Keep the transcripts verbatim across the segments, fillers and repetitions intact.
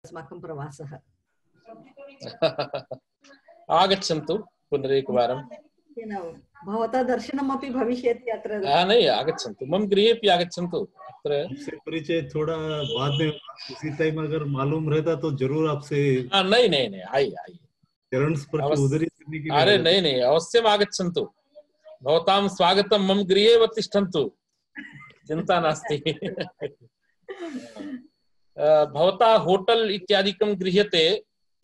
अस्माकं प्रवासः। आगच्छन्तु पुनरेकवारं। भवतः दर्शनमपि भविष्यति अत्र। नहीं, आगच्छन्तु, मम गृहेपि आगच्छन्तु। आपसे परिचय थोड़ा बाद में, उसी टाइम अगर मालूम रहता तो जरूर आपसे। हाँ, नहीं नहीं नहीं, आइए आइए, चरण स्पर्श उदरी करने के लिए। अरे नहीं नहीं, अवश्यम् आगच्छन्तु। भवतां स्वागतं मम गृहे एव तिष्ठन्तु, चिन्ता नास्ति। भवता होटल इत्यादिकं गृह्यते,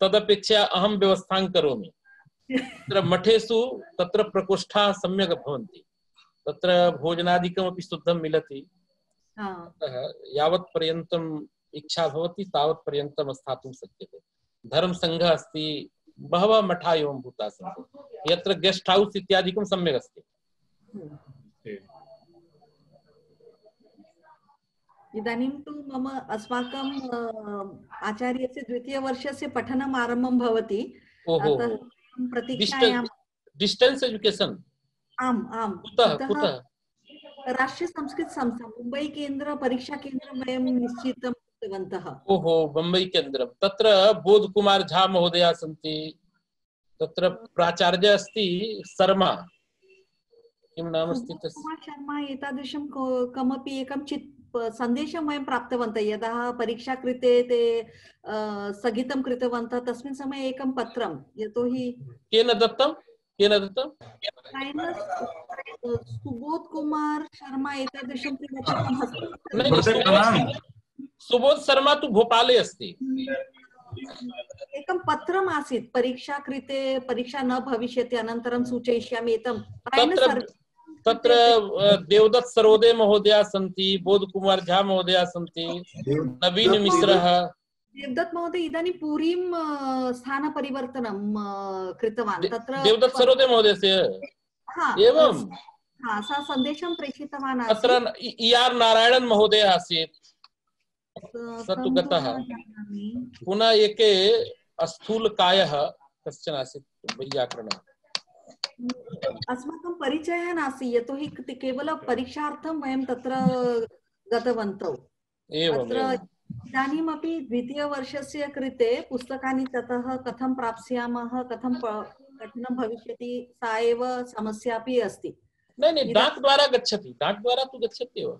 तदपेक्षया अहं व्यवस्थां करोमि। तत्र मठेषु तत्र प्रकोष्ठाः सम्यक् भवन्ति, तत्र भोजनादिकमपि शुद्धं मिलति। अतः यावत् पर्यन्तम् इच्छा भवति तावत् पर्यन्तं स्थातुं शक्यते। धर्मसङ्घः अस्ति, बहवः मठा एवं भूताः सन्ति, यत्र गेस्ट हाउस इत्यादिकं सम्यक् अस्ति। इदानीं तु मम अस्माकं आचार्यस्य द्वितीयवर्षस्य पठनम् आरम्भं भवति। अतः प्रतीक्षायां। Distance education? आम् आम्। कुतः कुतः? राष्ट्रीय संस्कृत संस्था मुंबई केंद्र परीक्षा केंद्र वयं निश्चितं कृतवन्तः। ओहो, मुंबई केंद्रं। तत्र बोध कुमार झा महोदया सन्ति, तत्र प्राचार्य अस्ति शर्मा, किं नाम अस्ति तस्य? शर्मा एतादृशं कमपि एकं चित् सन्देशं वयं प्राप्तवन्तः। यदा परीक्षा कृते ते स्थगितं कृतवन्तः, तस्मिन् समये एकं पत्रं, यतोहि केन दत्तं केन दत्तं? सुबोध कुमार शर्मा एतादृशं सुबोध शर्मा तु भोपाले अस्ति। एकं पत्रम् आसीत्, परीक्षा कृते परीक्षा न भविष्यति, अनन्तरं सूचयिष्यामि एतं। तत्र तत्र देवदत्त सरोदे महोदया सन्ति, बोध कुमार झा महोदया सन्ति, नवीन मिश्रः। देवदत्त महोदय इदानीं पुरीं स्थानपरिवर्तनं कृतवान्। तत्र देवदत्त सरोदे महोदयस्य एवं सा सन्देशं प्रेषितवान्। तत्र इ आर नारायणन् महोदयः आसीत्, स तु गतः। पुनः एके स्थूलकायः कश्चन आसीत्, वैयाकरणः। अस्माकं परिचयः नास्ति, यतोहि केवलं परीक्षार्थं वयं तत्र गतवन्तौ। इदानीमपि द्वितीयवर्षस्य कृते पुस्तकानि ततः कथं प्राप्स्यामः, कथं पठनं भविष्यति, सा एव समस्या अपि अस्ति। नहीं नहीं, डाक द्वारा गच्छति, डाक द्वारा तु गच्छति एव।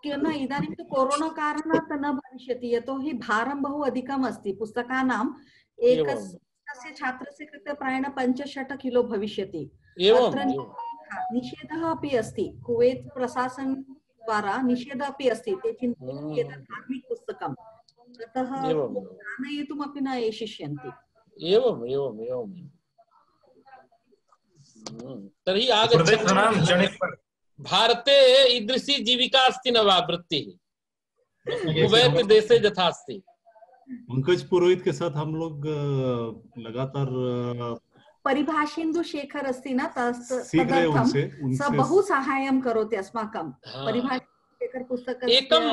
न, इदानीं तु कोरोना कारणात् न भविष्यति, यतोहि भारं बहु अधिकम् अस्ति पुस्तकानाम्। एकस्य छात्रस्य कृते प्रायेण पञ्चषट् किलो भविष्यति। अत्र निषेधः अपि अस्ति, कुवेत् प्रशासन द्वारा निषेधः अपि अस्ति। ते चिन्तयन्ति एतत् धार्मिक पुस्तकम्, अतः आनयितुमपि न एषिष्यन्ति। एवम् एवम् एवम्। तर्हि आगच्छन्तु। भारते ईदृशी जीविका अस्ति न वा वृत्तिः, कुवैत देशे यथा अस्ति। पंकज पुरोहित के साथ हम लोग लगातार परिभाषेन्दु शेखर अस्ति न, तदर्थं स बहु साहाय्यं करोति अस्माकं। परिभाषेन्दु शेखर पुस्तकस्य एकम्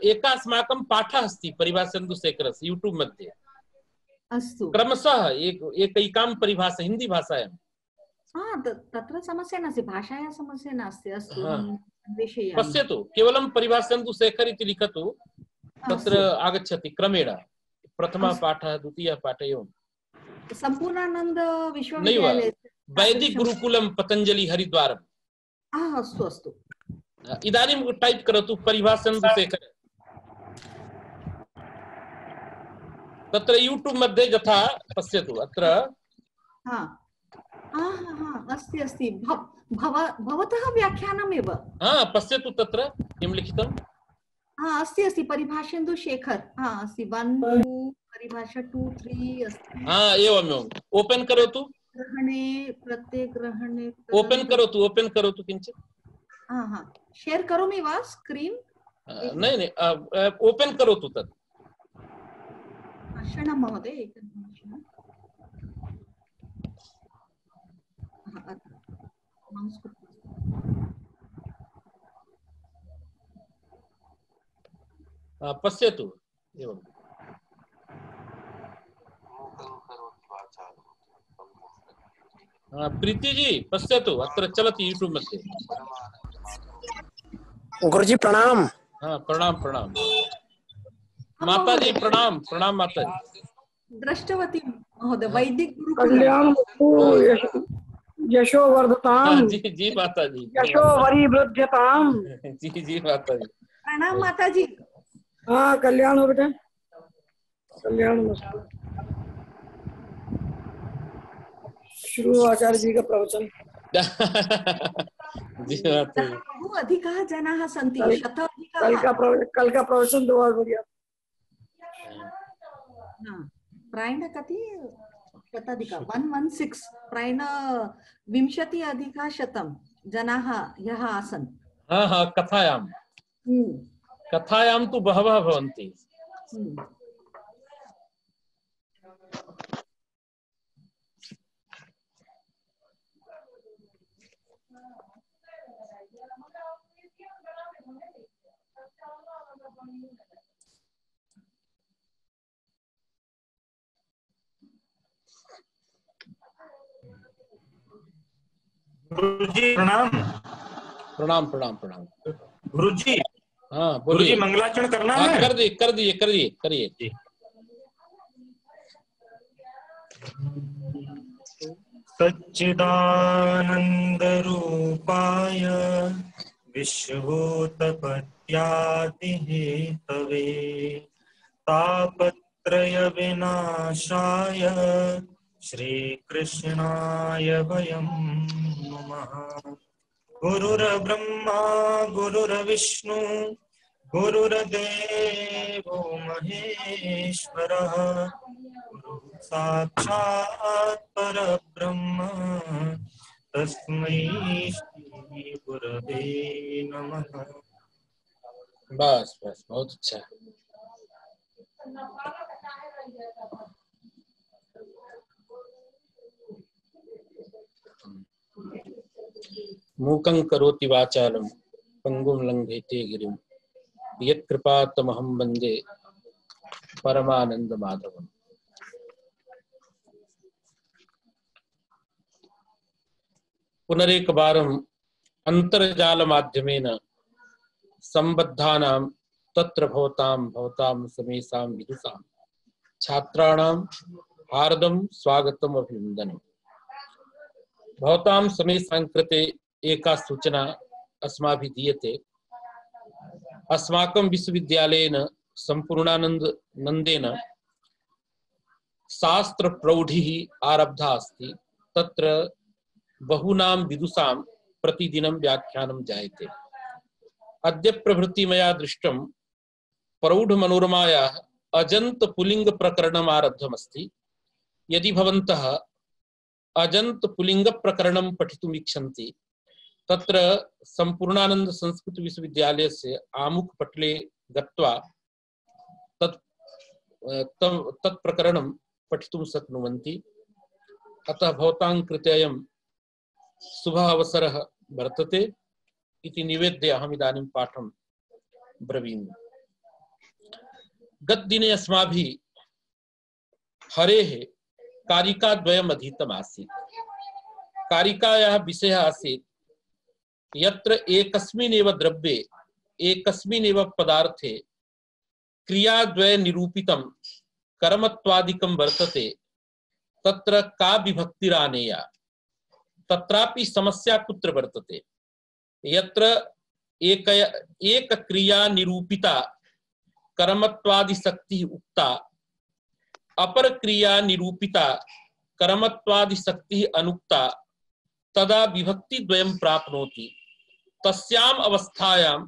एका अस्माकं पाठः अस्ति परिभाषेन्दु शेखरस्य यूट्यूब मध्ये। अस्तु, क्रमशः एक एकैकां परिभाषा हिंदी भाषायां। हाँ, तत्र समस्या नास्ति, भाषायाः समस्या नास्ति। अस्तु, पश्यतु, केवलं परिभाषेन्दु शेखर इति लिखतु, तत्र आगच्छति क्रमेण। प्रथमः पाठः, द्वितीयः पाठः, एवं। सम्पूर्णानन्द विश्वविद्यालय वैदिक गुरुकुलम पतंजलि हरिद्वारम्। अस्तु अस्तु, इदानीं टाइप करोतु परिभाषेन्दु शेखर। तत्र यूट्यूब मध्ये यथा पश्यतु, अत्र हाँ हाँ हाँ अस्ति अस्ति, भवतः व्याख्यानमेव। हाँ, पश्यतु तत्र किं लिखितम्। हाँ, अस्ति अस्ति, परिभाषेन्दु शेखर। हाँ, अस्ति, वन टू परिभाषा टू थ्री अस्ति। हाँ, एवम् एवम्। ओपन करोतु। ग्रहणे प्रत्येक ग्रहणे ओपन करोतु, ओपन करोतु किञ्चित्। हाँ हाँ, शेयर करोमि वा स्क्रीन? नहीं नहीं, ओपन करोतु तत्। क्षणं महोदय, एकनिमिषम्। पश्यतु, एवं। प्रीति जी पश्यतु, अत्र चलति यूट्यूब मध्ये। गुरुजी प्रणाम। हाँ, प्रणाम प्रणाम। माता जी प्रणाम प्रणाम माता जी। दृष्टवती महोदय, वैदिक कल्याण यशो वर्धताम, जी जी माता जी, यशो वरिवृद्ध्यताम। जी जी माता जी, प्रणाम माता जी। हाँ कल्याण हो बेटा, कल्याण हो। शुरू आचार्य जी का प्रवचन। जी माता जी। बहु अधिकाः जनाः सन्ति, कल, शताधिकाः। कल का प्रवचन कल का प्रवचन तो और बढ़िया। प्रायः कति शताधिक वन वन सिक्स प्रायः विंशति अधिक शतं जनाः यः आसन्। हाँ हाँ कथायां कथायां तु बहवः भवन्ति। गुरुजी प्रणाम। प्रणाम प्रणाम प्रणाम। गुरुजी हाँ गुरुजी बोलिए। मंगलाचरण करना हाँ है। कर दिए कर दिए करिए करिए। सच्चिदानंद रूपाय विश्वोत्पत्त्यादि हेतवे तापत्रय विनाशाय श्रीकृष्णाय वयं नमः। गुरुर्ब्रह्मा गुरुर्विष्णु गुरुर्देवो महेश्वरः साक्षात् परब्रह्म तस्मै श्री गुरवे नमः। बस बस बहुत अच्छा। मूकं करोति वाचालं पंगुं लंघयते गिरिं यत्कृपातमहं वन्दे परमानंद माधवम्। पुनरेकवारम् अंतर्जाल माध्यमेन संबद्धानां तत्र भवतां भवतां समेषां विदुषां छात्राणां हार्दं स्वागतम् अभिनन्दनम्। भवतां समेषां कृते एका सूचना अस्माभिः दीयते। अस्माकं विश्वविद्यालयेन सम्पूर्णानंद नंदेन शास्त्र प्रौढिः आरब्धा अस्ति। तत्र बहूनां विदुषां प्रतिदिनं व्याख्यानं जायते। अद्य प्रभृति मया दृष्टं प्रौढ मनोरमायाः अजंत पुलिंग प्रकरणम् आरब्धमस्ति। यदि भवन्तः अजंत पुलिंग प्रकरणं पठितुम् इच्छन्ति तत्र सम्पूर्णानंद संस्कृत विश्वविद्यालयस्य आमुख पटले गत्वा तत् तत् प्रकरणं पठितुं शक्नुवन्ति। अतः भवतां कृते अयं शुभः अवसरः वर्तते इति निवेद्य अहम् इदानीं पाठं ब्रवीमि। गतदिने अस्माभिः हरेः कारिकाद्वयम् अधीतम् आसीत्। कारिकायाः विषयः आसीत् यत्र एकस्मिन्नेव द्रव्ये एकस्मिन्नेव पदार्थे क्रियाद्वय निरूपितं कर्मत्वादिकं वर्तते तत्र का विभक्तिरानेया। तत्रापि समस्या कुत्र वर्तते। यत्र एक एक क्रिया निरूपिता कर्मत्वादि शक्ति उक्ता अपर क्रिया निरूपिता कर्मत्वादि शक्ति अनुक्ता तदा विभक्ति द्वयं प्राप्नोति। तस्याम् अवस्थायां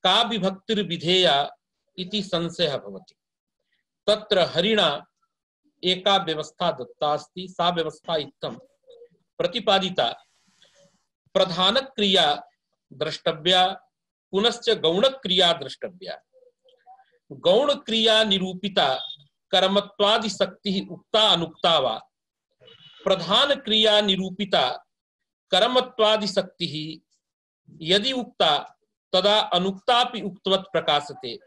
का विभक्तिर्विधेया इति संशयः भवति। तत्र हरिणा एका व्यवस्था दत्ता अस्ति। सा व्यवस्था इत्थं प्रतिपादिता प्रधान क्रिया द्रष्टव्या पुनश्च गौण क्रिया द्रष्टव्या। गौण क्रिया निरूपिता कर्मत्वादि शक्ति उक्ता अनुक्ता वा प्रधान क्रिया निरूपिता कर्मत्वादि शक्ति यदि उक्ता तदा अनुक्तापि उक्तवत् प्रकाशते।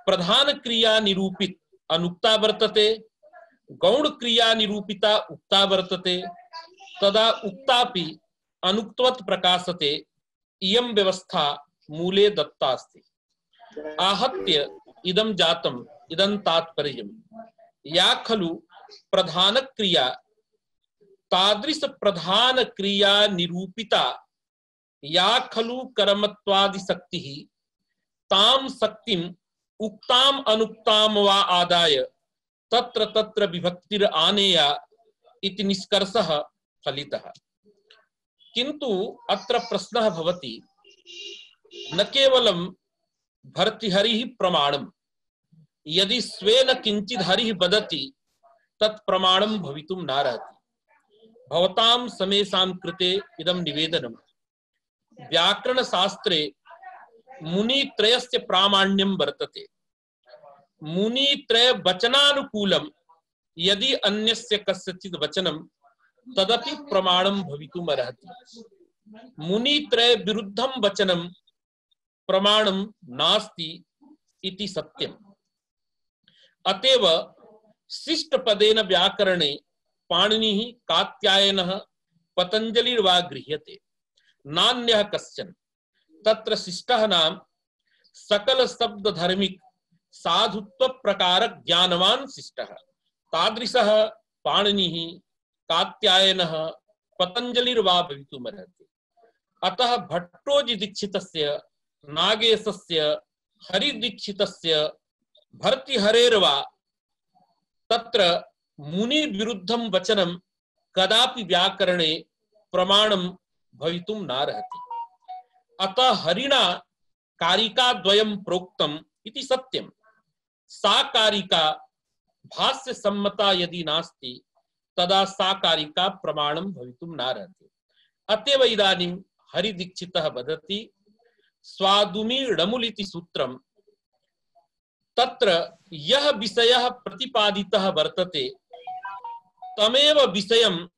प्रधान क्रिया निरूपित अनुक्ता वर्तते गौण क्रिया निरूपिता उक्ता वर्तते तदा उक्तापि अनुक्तवत् प्रकाशते। इयं व्यवस्था मूले दत्ता अस्ति। आहत्य इदं जातं इदं तात्पर्यम्। या खलु प्रधान क्रिया तादृश प्रधान क्रिया निरूपिता या खलु कर्मत्वादि शक्तिः ताम शक्तिम उक्ताम अनुक्ताम वा आदाय तत्र तत्र विभक्तिर आनेया इति निष्कर्षः फलितः। किन्तु अत्र प्रश्नः भवति न केवलं भर्तृहरिः प्रमाणम्, यदि स्वेन किंचित् हरिः वदति तत् प्रमाणं भवितुं नार्हति। भवतां समेषां कृते इदं निवेदनम्। व्याकरण शास्त्रे मुनित्रयस्य प्रामाण्यं वर्तते। मुनित्रय वचनानुकूलं यदि अन्यस्य कस्यचित् वचनं तदपि प्रमाणं भवितुम् अर्हति। मुनित्रय विरुद्धं वचनं प्रमाणं नास्ति इति सत्यम्। अतएव शिष्टपदेन व्याकरणे पाणिनिः कात्यायनः पतञ्जलिर्वा गृह्यते, नान्यः कश्चन। तत्र शिष्टः नाम सकल शब्द धर्मिक साधुत्व प्रकार ज्ञानवान शिष्टः। तादृशः पाणिनिः कात्यायनः पतञ्जलिर्वा भवितुमर्हति। अतः भट्टोजि दीक्षितस्य, नागेशस्य, हरिदीक्षितस्य, भर्तृहरेर्वा तत्र मुनि विरुद्धं वचनं कदापि व्याकरणे प्रमाणं भवितुं नार्हति। अतः हरिणा कारिका द्वयं प्रोक्तम् इति सत्यम्। सा कारिका भाष्य सम्मता यदि नास्ति तदा सा कारिका प्रमाणं भवितुं नार्हति। अतएव इदानीं हरिदीक्षितः वदति स्वादुमी णमुलिति सूत्रम्। तत्र यः विषयः प्रतिपादितः वर्तते तमेव विषयम्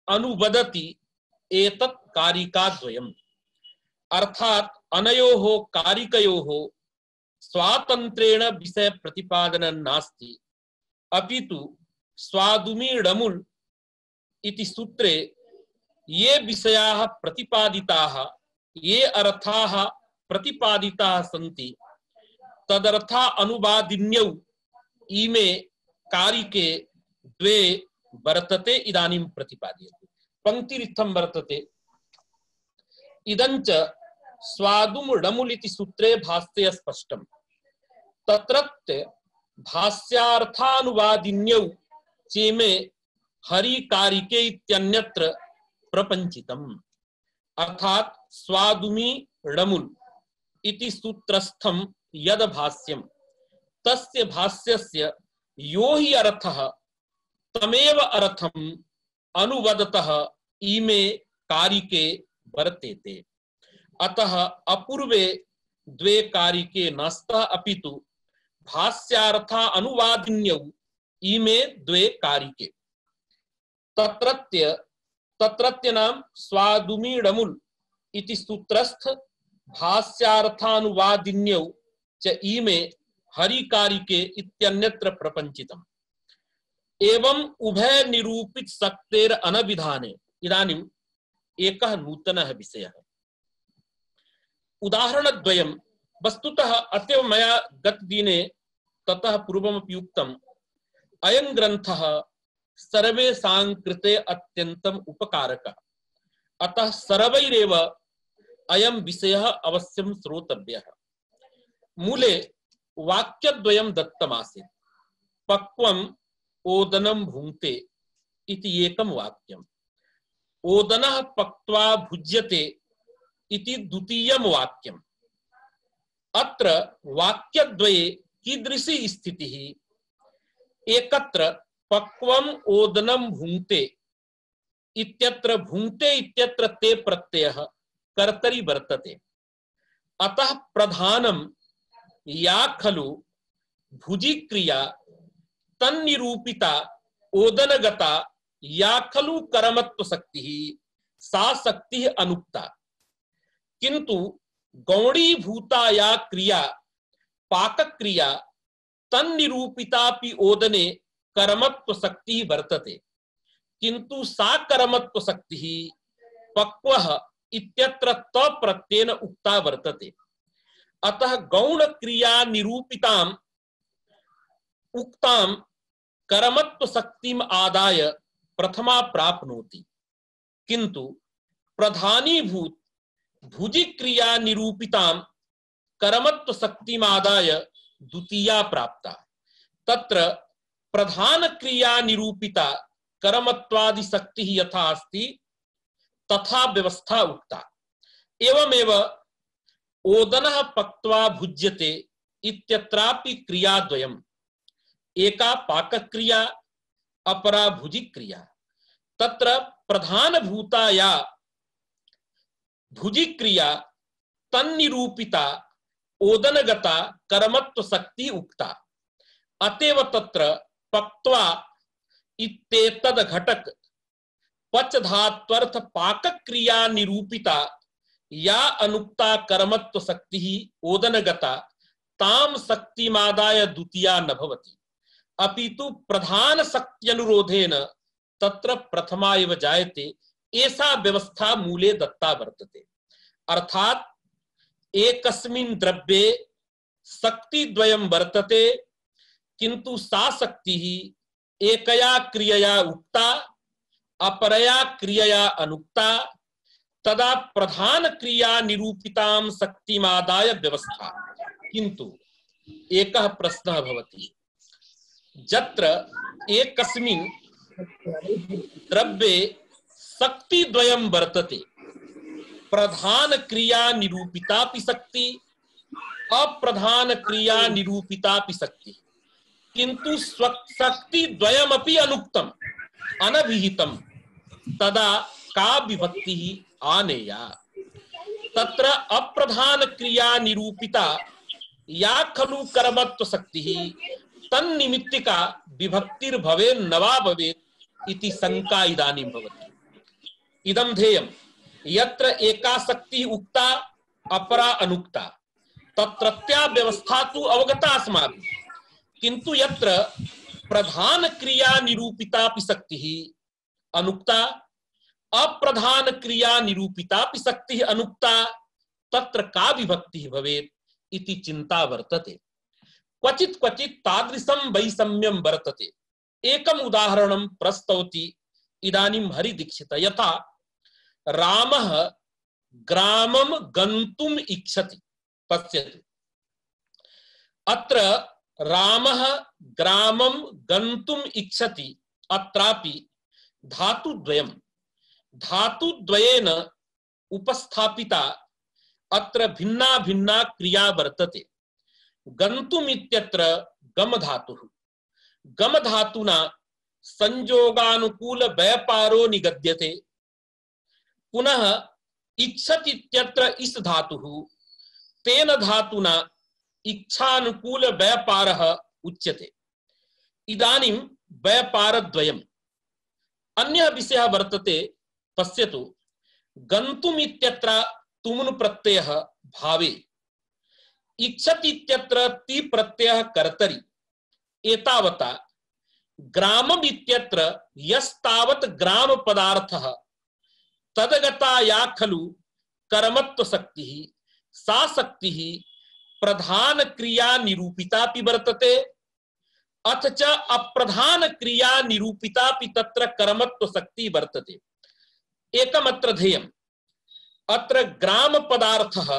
अनुवदति एतत् कारिकाद्वयम्। अर्थात अनयोः कारिकयोः स्वातन्त्रेण विषय प्रतिपादनं नास्ति, अपितु स्वादुमी णमुल् इति सूत्रे ये विषयाः प्रतिपादिताः, ये अर्थाः प्रतिपादिताः सन्ति तदर्था अनुवादिन्यौ इमे कारिके द्वे वर्तते इदानीं प्रतिपाद्यते। पंक्तिरित्थं वर्तते इदञ्च स्वादुम णमुलिति सूत्रे भाष्ये स्पष्टम्। तत्रत्य भाष्यार्थानुवादिन्यौ चेमे हरिकारिके इत्यन्यत्र प्रपञ्चितम्। अर्थात स्वादुमी णमुल् इति सूत्रस्थं यद भाष्यं तस्य भाष्यस्य यो हि अर्थः तमेव अर्थम् अनुवदतः इमे कारिके वर्तेते। अतः अपूर्वे द्वे कारिके नस्तः अपितु भाष्यार्था अनुवादिन्यौ इमे द्वे कारिके। तत्रत्य तत्रत्य नाम स्वादुमी णमुल् इति सूत्रस्थ भाष्यार्थानुवादिन्यौ च इमे हरिकारिके इत्यन्यत्र प्रपञ्चितम्। एवं उभय निरूपित शक्तेर अनविधाने इदानीम् एकः नूतनः विषयः। उदाहरणद्वयं वस्तुतः अतएव मया गतदिने ततः पूर्वमपि उक्तम्। अयं ग्रन्थः सर्वेषां कृते अत्यन्तम् उपकारकः। अतः सर्वैरेव अयं विषयः अवश्यं श्रोतव्यः। मूले वाक्यद्वयं दत्तमासीत्। पक्वम् ओदनं भुङ्क्ते इति एकं वाक्यम्। ओदनः पक्त्वा भुज्यते इति द्वितीयं वाक्यम्। अत्र वाक्यद्वये कीदृशी स्थितिः? एकत्र पक्वम् ओदनं भुङ्क्ते इत्यत्र भुङ्क्ते इत्यत्र ते प्रत्ययः कर्तरि वर्तते। अतः प्रधानं या खलु भुजि क्रिया तन्निरूपिता ओदनगता या खलु कर्मत्व शक्तिः सा शक्तिः अनुक्ता। किंतु गौणीभूता या क्रिया पाक क्रिया तन्निरूपितापि ओदने कर्मत्व शक्तिः वर्तते, किंतु सा कर्मत्व शक्तिः पक्वः इत्यत्र त प्रत्ययेन उक्ता वर्तते। अतः गौण क्रिया निरूपितां उक्तां कर्मत्व शक्तिम आदाय प्रथमा प्राप्नोति, किंतु प्रधानीभूत भुजि क्रिया निरूपितां कर्मत्व शक्तिम आदाय द्वितीया प्राप्ता। तत्र प्रधान क्रिया निरूपिता कर्मत्वादि शक्ति यथा अस्ति तथा व्यवस्था उक्ता। एवमेव ओदनः पक्त्वा भुज्यते इत्यत्रापि क्रियाद्वयम्, एका पाकक्रिया अपरा भुजिक्रिया। तत्र प्रधानभूता या भुजिक्रिया तन्निरूपिता ओदनगता कर्मत्व शक्ति उक्ता। अतएव तत्र पक्त्वा इत्येतद् घटक पचधात्वर्थ पाकक्रिया निरूपिता या अनुक्ता कर्मत्व शक्ति ओदनगता ताम शक्तिमादाय द्वितीया न भवति, अपितु प्रधान शक्ति अनुरोधेन तत्र प्रथमा एव जायते। ऐसा व्यवस्था मूले दत्ता वर्तते। अर्थात एकस्मिन् द्रव्ये शक्ति द्वयं वर्तते, किंतु सा शक्ति एकया क्रियया उक्ता अपरया क्रियया अनुक्ता, तदा प्रधान क्रिया निरूपितां शक्तिमादाय व्यवस्था। किंतु एकः प्रश्नः भवति, यत्र एकस्मिन् द्रव्ये शक्ति द्वयं वर्तते, प्रधान क्रिया निरूपितापि शक्ति अप्रधान क्रिया निरूपितापि शक्ति, किंतु शक्ति द्वयमपि अनुक्तम अनभिहितम, तदा का विभक्ति आनेया। तत्र अप्रधान क्रिया निरूपिता या खलु कर्मत्व शक्ति तन्निमित्तिका विभक्तिर भवे नवा भवेत् इति शंका इदानीं भवति। इदं ध्येयम्, यत्र एका शक्ति उक्ता अपरा अनुक्ता, तत्रत्या व्यवस्था तु अवगता अस्माभिः, किंतु यत्र प्रधान क्रिया निरूपितापि शक्तिः अनुक्ता अप्रधान क्रिया निरूपितापि शक्तिः अनुक्ता, तत्र का विभक्तिः भवेत् इति चिंता वर्तते। क्वचित् क्वचित् तादृशं वैषम्यं वर्तते। एकम् उदाहरणं प्रस्तौति इदानीं हरिदीक्षितः। यथा रामः ग्रामं गन्तुम् इच्छति। पश्यतु, अत्र रामः ग्रामं गन्तुम् इच्छति, अत्रापि धातुद्वयं धातुद्वयेन उपस्थापिता अत्र भिन्ना भिन्ना क्रिया वर्तते। गन्तुम् इत्यत्र गम धातुः, गम धातुना संयोगानुकूल व्यापारो निगद्यते। पुनः इच्छति इत्यत्र इस धातुः, तेन धातुना इच्छानुकूल व्यापारः उच्यते। इदानीं व्यापारद्वयम्। अन्यः विषयः वर्तते, पश्यतु, गन्तुम् इत्यत्र तुमुन् प्रत्ययः भावे, इच्छति इत्यत्र ति प्रत्ययः कर्तरि। एतावता ग्रामम् इत्यत्र यस्तावत् ग्राम पदार्थः तदगता या खलु कर्मत्व शक्तिः, सा शक्तिः प्रधान क्रिया निरूपितापि वर्तते, अथ च अप्रधान क्रिया निरूपितापि तत्र कर्मत्व शक्ति वर्तते। एकमत्र ध्येयम्, अत्र ग्राम पदार्थः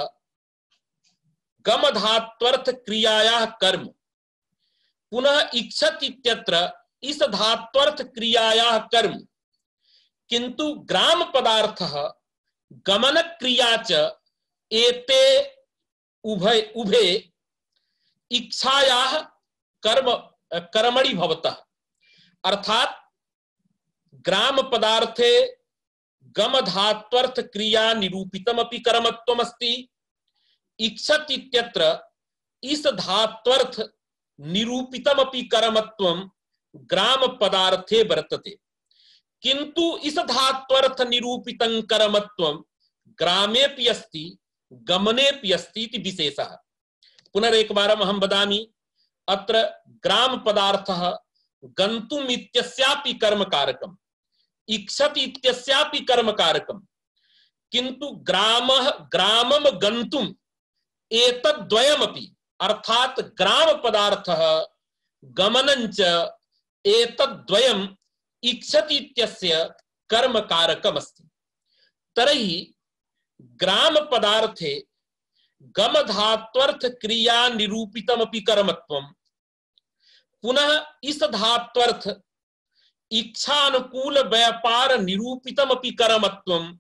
गम धात्वर्थ क्रियायाः कर्म, पुनः इच्छति इत्यत्र इस धात्वर्थ क्रियायाः कर्म, किंतु ग्राम पदार्थः गमन क्रिया च एते उभय उभे इच्छायाः कर्म कर्मणि भवतः। अर्थात ग्राम पदार्थे गम धात्वर्थ क्रिया निरूपितमपि कर्मत्वमस्ति, इच्छति इत्यत्र इस धात्वर्थ निरूपितमपि कर्मत्वं ग्राम पदार्थे वर्तते, किंतु इस धात्वर्थ निरूपितं कर्मत्वं ग्रामेऽपि अस्ति गमनेऽपि अस्ति इति विशेषः। पुनरेकवारम् अहं वदामि, अत्र ग्राम पदार्थः गन्तुम् इत्यस्यापि कर्मकारकम्, इच्छति इत्यस्यापि कर्मकारकम्, किंतु ग्रामः ग्रामं गन्तुम् एतद्द्वयमपि, अर्थात ग्राम पदार्थः गमनञ्च एतद्द्वयम् इच्छति इत्यस्य कर्मकारकमस्ति। तर्हि ग्राम पदार्थे गमधात्वर्थ क्रिया निरूपितमपि कर्मत्वं पुनः इस धात्वर्थ इच्छानुकूल व्यापार निरूपितमपि कर्मत्वम्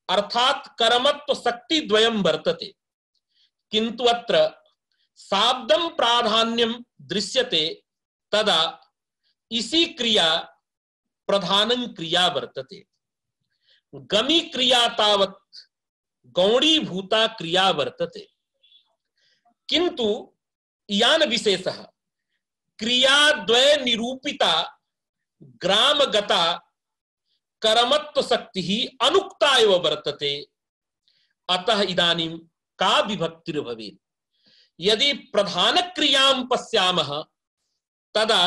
अर्थात कर्मत्व शक्ति द्वयं वर्तते, किंतु अत्र शाब्दं प्राधान्यं दृश्यते तदा इसी क्रिया प्रधानं क्रिया वर्तते। गमी क्रिया तावत् गौणीभूता क्रिया वर्तते, किंतु इयान विशेषः क्रियाद्वय निरूपिता ग्रामगता कर्मत्व शक्ति ही अनुक्ता एव वर्तते। अतः इदानीं का विभक्तिर् भवेत्? यदि प्रधान क्रियां पश्यामः तदा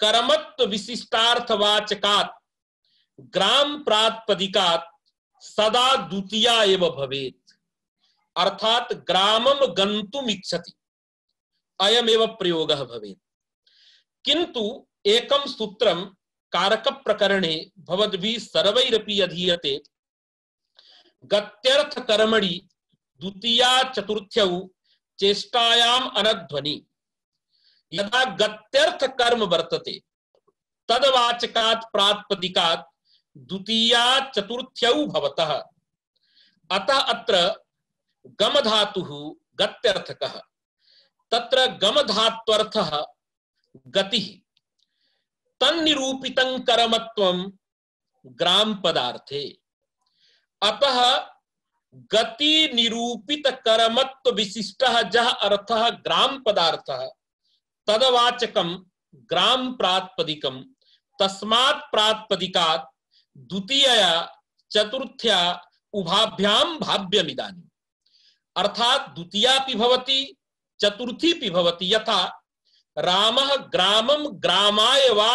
कर्मत्व विशिष्टार्थवाचकात् ग्राम प्रातिपदिकात् सदा द्वितीया एव भवेत्, अर्थात ग्रामं गन्तुम् इच्छति अयमेव प्रयोगः भवेत्। किंतु एकं सूत्रं कारक प्रकरणे भवद्भिः सर्वैरपि अधीयते। गत्यर्थ कर्मणि द्वितीया चतुर्थ्यौ चेष्टायाम् अनध्वनि। यदा गत्यर्थ कर्म वर्तते तदवाचकात् प्रातिपदिकात् द्वितीया चतुर्थ्यौ भवतः। अतः अत्र गम धातुः गत्यर्थकः, तत्र गम धात्वर्थः गतिः, तन्निरूपितं कर्मत्वं ग्राम पदार्थे। अतः गति निरूपित कर्मत्व विशिष्टः जः अर्थः ग्राम पदार्थः तदवाचकं ग्राम प्रातिपदिकं, तस्मात् प्रातिपदिकात् द्वितीया चतुर्थ्या उभाभ्यां भाव्यमिदानीम्। अर्थात द्वितीयापि भवति चतुर्थीपि भवति। यथा रामः ग्रामं ग्रामाय वा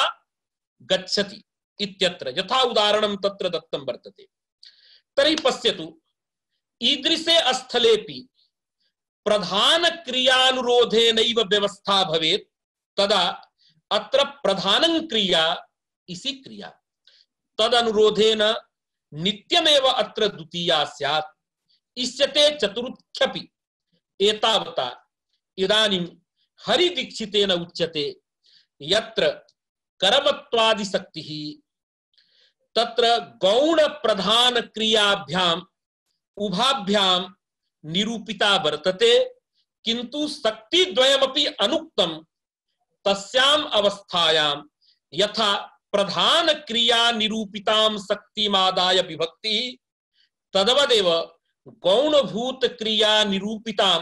गच्छति इत्यत्र यथा उदाहरणं तत्र दत्तं वर्तते। तर्हि पश्यतु, ईदृशे स्थलेपि प्रधान क्रियानुरोधेनैव व्यवस्था भवेत्, तदा अत्र प्रधानं क्रिया इसी क्रिया तदनुरोधेन नित्यमेव अत्र द्वितीया स्यात्। इष्यते चतुर्थ्यपि। एतावता इदानीं हरिदीक्षितेन उच्यते यत्र कर्मत्वादि शक्तिः तत्र गौण प्रधान क्रियाभ्याम उभाभ्याम निरूपिता वर्तते, किंतु शक्ति द्वयमपि अनुक्तं तस्याम अवस्थायां यथा प्रधान क्रिया निरूपितां शक्तिमादाय विभक्ति तदवदेव गौणभूत क्रिया निरूपितां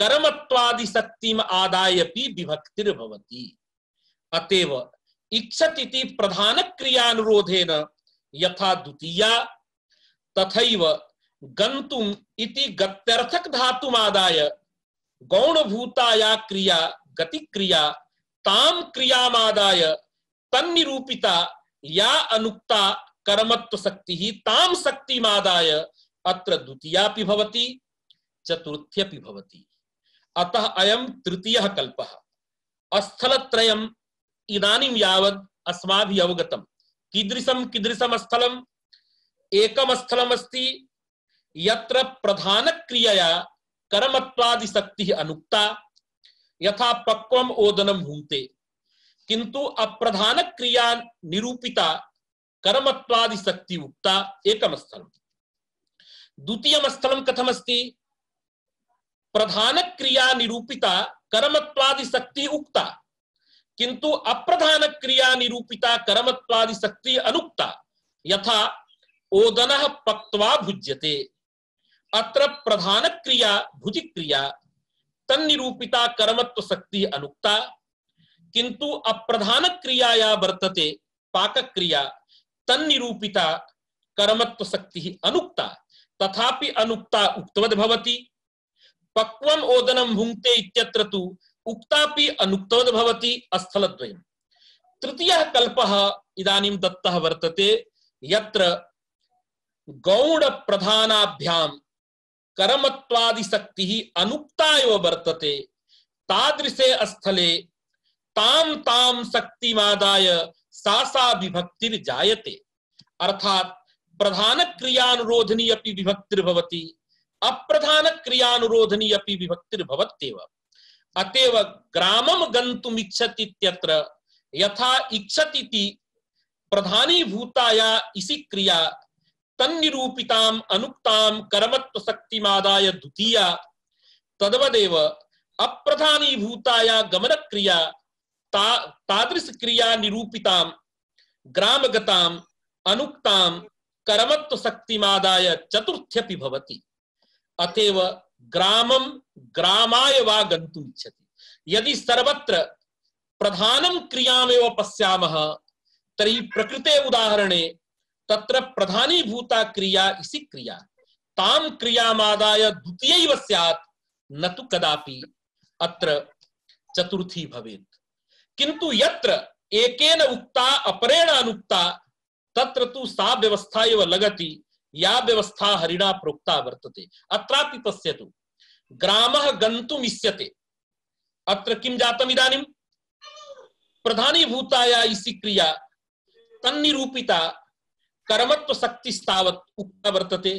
कर्मत्वादि शक्तिम आदायपि विभक्तिर्भवति। अतएव इच्छति प्रधान क्रियानुरोधेन यथा द्वितीया तथैव गन्तुम् इति गत्यर्थक धातुमादाय गौणभूताया क्रिया गति क्रिया ताम क्रियामादाय तन्निरूपिता या अनुक्ता कर्मत्व शक्ति ही ताम शक्तिमादाय अत्र द्वितीयापि भवति चतुर्थ्यपि भवति। अतः अयं तृतीयः कल्पः। स्थलत्रयम् इदानीं यावत् अस्माभिः अवगतं। कीदृशं कीदृशं स्थलम्? एकं स्थलमस्ति यत्र प्रधान क्रियया कर्मत्वादि शक्तिः अनुक्ता, यथा पक्वम् ओदनं भुङ्क्ते, किंतु अप्रधान क्रिया निरूपिता कर्मत्वादि शक्ति उक्ता। एकं स्थलम्। द्वितीयं स्थलं कथमस्ति? प्रधान क्रिया निरूपिता कर्मत्वादि शक्ति उक्ता, किंतु अप्रधान क्रिया निरूपिता कर्मत्वादि शक्ति अनुक्ता। यथा ओदनः पक्त्वा भुज्यते, अत्र प्रधान क्रिया भुजि क्रिया तन्निरूपिता कर्मत्व शक्ति अनुक्ता, किंतु अप्रधान क्रियाया वर्तते पाक क्रिया तन्निरूपिता कर्मत्व शक्ति अनुक्ता। तथापि अनुक्ता उक्तवद् भवति। पक्वम् ओदनं भुङ्क्ते इत्यत्र तु उक्तापि अनुक्तवद् भवति। स्थलद्वयम्। तृतीयः कल्पः इदानीं दत्तः वर्तते यत्र गौण प्रधानाभ्यां कर्मत्वादि शक्तिः अनुक्ता एव वर्तते। तादृशे स्थले ताम ताम शक्तिमादाय सा सा विभक्तिर जायते। अर्थात प्रधान क्रियानुरोधनी अपि विभक्तिर्भवति, अप्रधान क्रियानुरोधनी अपि विभक्तिर्भवत्येव। अतएव ग्रामम गन्तुम इच्छति इत्यत्र यथा इच्छतीति प्रधानी भूताया इसी क्रिया तन्निरूपिताम अनुक्ताम कर्मत्व शक्तिमादाय द्वितीया, तद्वदेव अप्रधानी भूताया गमन क्रिया ता तादृश क्रिया निरूपिताम ग्रामगताम अनुक्ताम कर्मत्व शक्तिमादाय चतुर्थ्यपि भवति। अतएव ग्रामम ग्रामाय वा गन्तुम इच्छति। यदि सर्वत्र प्रधानम क्रियामेव पश्यामः तर्हि प्रकृते उदाहरणे तत्र प्रधानी भूता क्रिया इसी क्रिया ताम क्रियामादाय द्वितीयैव स्यात्, न तु कदापि अत्र चतुर्थी भवेत्। किंतु यत्र एकेन उक्ता अपरेण अनुक्ता तत्र तु सा व्यवस्था एव लगति या व्यवस्था हरिणा प्रोक्ता वर्तते। अत्रापि पश्यतु, ग्रामः गन्तुम् इष्यते। अत्र किं जातम् इदानीं? प्रधानी भूताया इसी क्रिया तन्निरूपिता कर्मत्व शक्तिस्तावत् उक्ता वर्तते।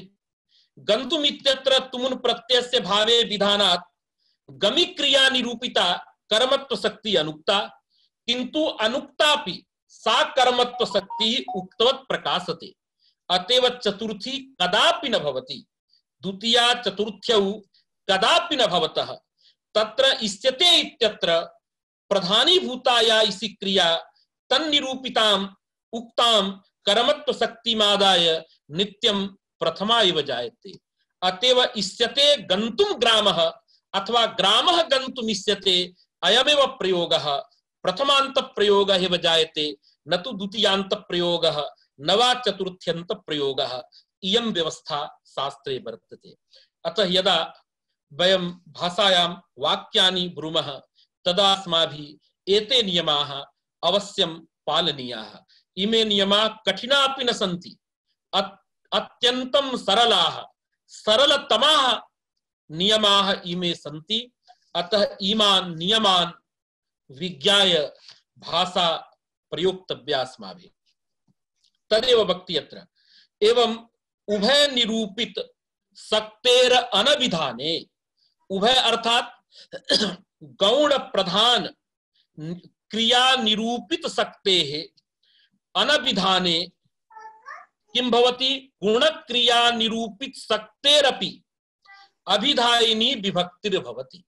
गन्तुम् इत्यत्र तुमुन् प्रत्ययस्य भावे विधानात् गमि क्रिया निरूपिता कर्मत्व शक्ति अनुक्ता, किंतु अनुक्तापि सा कर्मत्व शक्ति उक्तवत् प्रकाशते। अतएव चतुर्थी कदापि न भवति। द्वितीया चतुर्थ्यौ कदापि न भवतः। तत्र इष्यते इत्यत्र प्रधानी भूताया इसी क्रिया तन्निरूपिताम उक्ताम कर्मत्व शक्तिमादाय नित्यं प्रथमा एव जायते। अतएव इष्यते गन्तुम ग्रामः अथवा ग्रामः गन्तुम् इष्यते अयमेव प्रयोगः प्रथमांत प्रयोगः एव जायते, न तु द्वितीयांत प्रयोगः न वा चतुर्थ्यंत प्रयोगः। इयं व्यवस्था शास्त्रे वर्तते। अतः यदा वयं भाषायां वाक्यानि ब्रूमः तदा अस्माभिः एते नियमाः अवश्यं पालनीयाः। इमे नियमाः कठिनापि न सन्ति, अत्यन्तं सरलाः सरलतमाः नियमाः इमे सन्ति। अतः इमान् नियमान् विज्ञाय भाषा प्रयोक्तव्या अस्माभिः। तदेव वक्ति अत्र एवं उभय निरूपित शक्तेर अनभिधाने। उभय अर्थात गौण प्रधान क्रिया निरूपित शक्तेः अनभिधाने किं भवति? गुण क्रिया निरूपित शक्तेरपि अभिधायिनी विभक्तिर्भवति।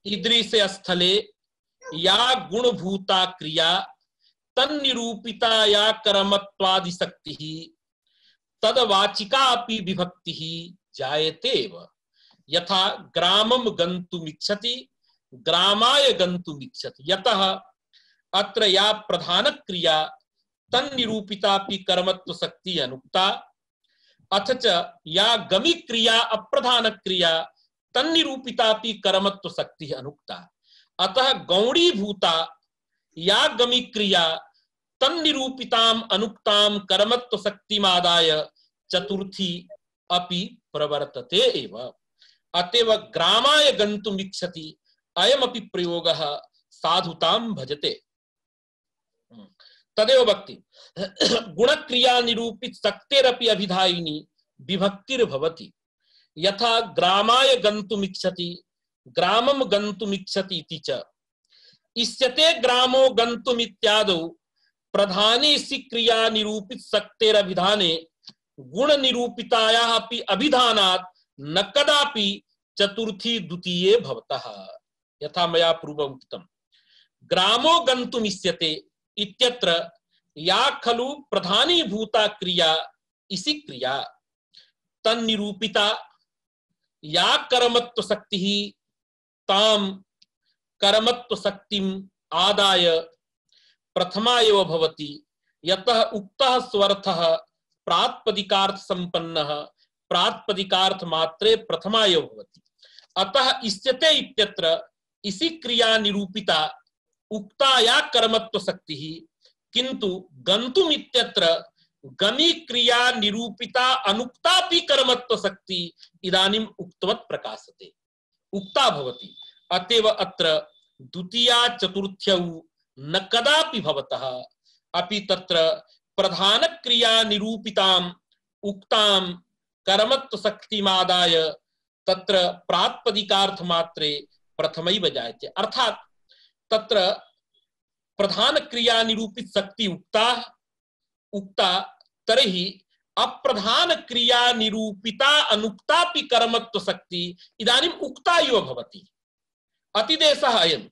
ईदृशे स्थले या गुणभूता क्रिया तन्निरूपिता या कर्मत्वादि शक्तिः तदवाचिका अपि विभक्तिः जायतेव। यथा ग्रामं गन्तुमिच्छति ग्रामाय गन्तुमिच्छति। यतः अत्र या प्रधान क्रिया तन्निरूपितापि कर्मत्व शक्ति अनुक्ता, अथ च या गमि क्रिया अप्रधान क्रिया तन्निरूपितापि कर्मत्व शक्ति अनुक्ता। अतः गौणी भूता या गमि क्रिया तन्निरूपिताम अनुक्ताम कर्मत्व शक्तिमादाय चतुर्थी अपि प्रवर्तते एव। अतएव ग्रामाय गन्तुम् इच्छति अयमपि प्रयोगः साधुतां भजते। तदेव वक्ति गुणक्रिया निरूपित शक्तेरपि अभिधायिनी विभक्तिर्भवति। यथा ग्रामाय गन्तुम् इच्छति ग्रामं गन्तुम् इच्छति इति च। इष्यते ग्रामो गन्तुम् इत्यादौ प्रधाने सी क्रिया निरूपित शक्तेरभिधाने गुण निरूपितायाः अपि अभिधानात् न कदापि चतुर्थी द्वितीये भवतः। यथा मया पूर्वम् उक्तम्, ग्रामो गन्तुम् इष्यते इत्यत्र या खलु प्रधानी भूता क्रिया इसी क्रिया तन्निरूपिता या कर्मत्व शक्तिः ताम कर्मत्व शक्तिम् आदाय प्रथमा एव भवति। यतः उक्तः स्वर्थः प्रातिपदिकार्थ संपन्नः प्रातिपदिकार्थ मात्रे प्रथमा एव भवति। अतः इष्यते इत्यत्र इसी क्रिया निरूपिता उक्ता या कर्मत्व शक्तिः, किंतु गन्तुम् इत्यत्र गमि क्रिया निरूपिता अनुक्तापि कर्मत्व शक्ति इदानीम् उक्तवत् प्रकाशते, उक्ता भवति। अतएव अत्र द्वितीया चतुर्थ्यौ न कदापि भवतः अपि तत्र प्रधान क्रिया निरूपिताम् उक्तां कर्मत्व शक्तिमादाय तत्र प्रातिपदिकार्थ मात्रे प्रथमैव जायते। अर्थात तत्र प्रधान क्रिया निरूपित शक्ति उक्ता उक्ता तर्हि अप्रधान क्रिया निरूपिता अनुक्तापि कर्मत्व शक्ति इदानीम् उक्ता इव भवति। अतिदेशः अयम्।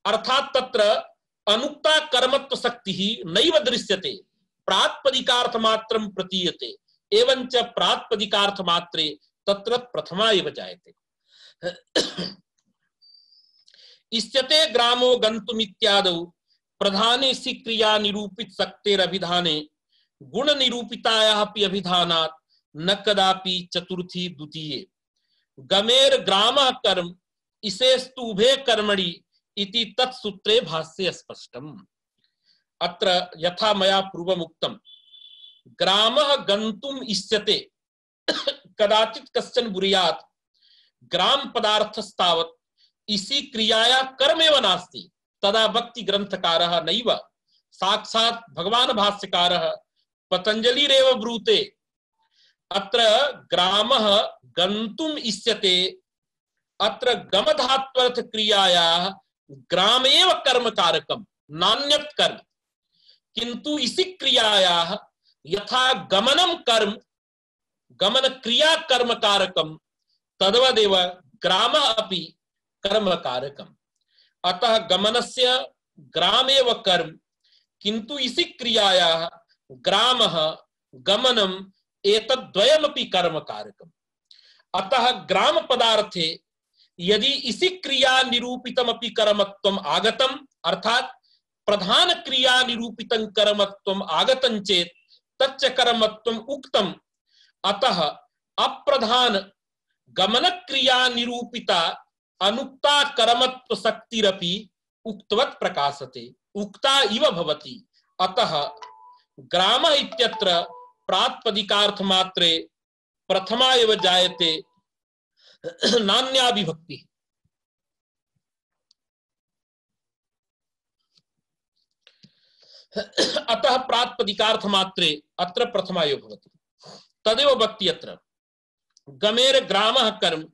अर्थात तत्र अनुक्ता कर्मत्व शक्तिः नैव दृश्यते, प्रातिपदिकार्थ मात्रं प्रतीयते, एवञ्च प्रातिपदिकार्थ मात्रे तत्र प्रथमा एव जायते। इष्यते ग्रामो गन्तुमित्यादौ प्रधाने सि क्रिया निरूपित शक्तेरभिधाने गुण निरूपितायाः अपि अभिधानात् न कदापि चतुर्थी द्वितीये गमेर ग्रामः कर्म इसेस्तु उभे कर्मणि इति तत्सूत्रे भाष्ये स्पष्टम्। अत्र यथा मया पूर्वम् उक्तं ग्रामः गन्तुम् इष्यते कदाचित् कश्चन बुर्यात् ग्राम पदार्थस्तावत् इसी क्रियाया कर्मेव नास्ति तदा भक्ति ग्रंथकारः नैव साक्षात् भगवान् भाष्यकारः पतंजलिरेव ब्रूते अत्र ग्रामः गन्तुम् इष्यते। अत्र गमधात्वर्थ क्रियायाः ग्रामेव कर्म कारकम् नान्यत् कर्म, किन्तु इसी क्रियायाः यथा गमनं कर्म गमन क्रिया कर्म कारकम् तद्वदेव ग्रामः अपि कर्म कारकम्। अतः गमनस्य ग्रामेव कर्म, किन्तु इसी क्रियायाः ग्रामः गमनम् एतद्द्वयमपि कर्म कारकम्। अतः ग्राम पदार्थे यदि इसी क्रिया निरूपितमपि कर्मत्वम् आगतम् अर्थात प्रधान क्रिया निरूपितं कर्मत्वम् आगतं चेत् तच्च कर्मत्वम् उक्तम्। अतः अप्रधान गमन क्रिया निरूपिता अनुक्ता कर्मत्व शक्तिरपि उक्तवत् प्रकाशते, उक्ता इव भवति। अतः ग्राम इत्यत्र प्रातिपदिकार्थ मात्रे प्रथमा एव जायते नान्या विभक्ति। अतः प्रातिपदिकार्थ मात्रे अत्र प्रथमा एव भवति। तदेव भक्ति अत्र गमेर ग्रामः कर्म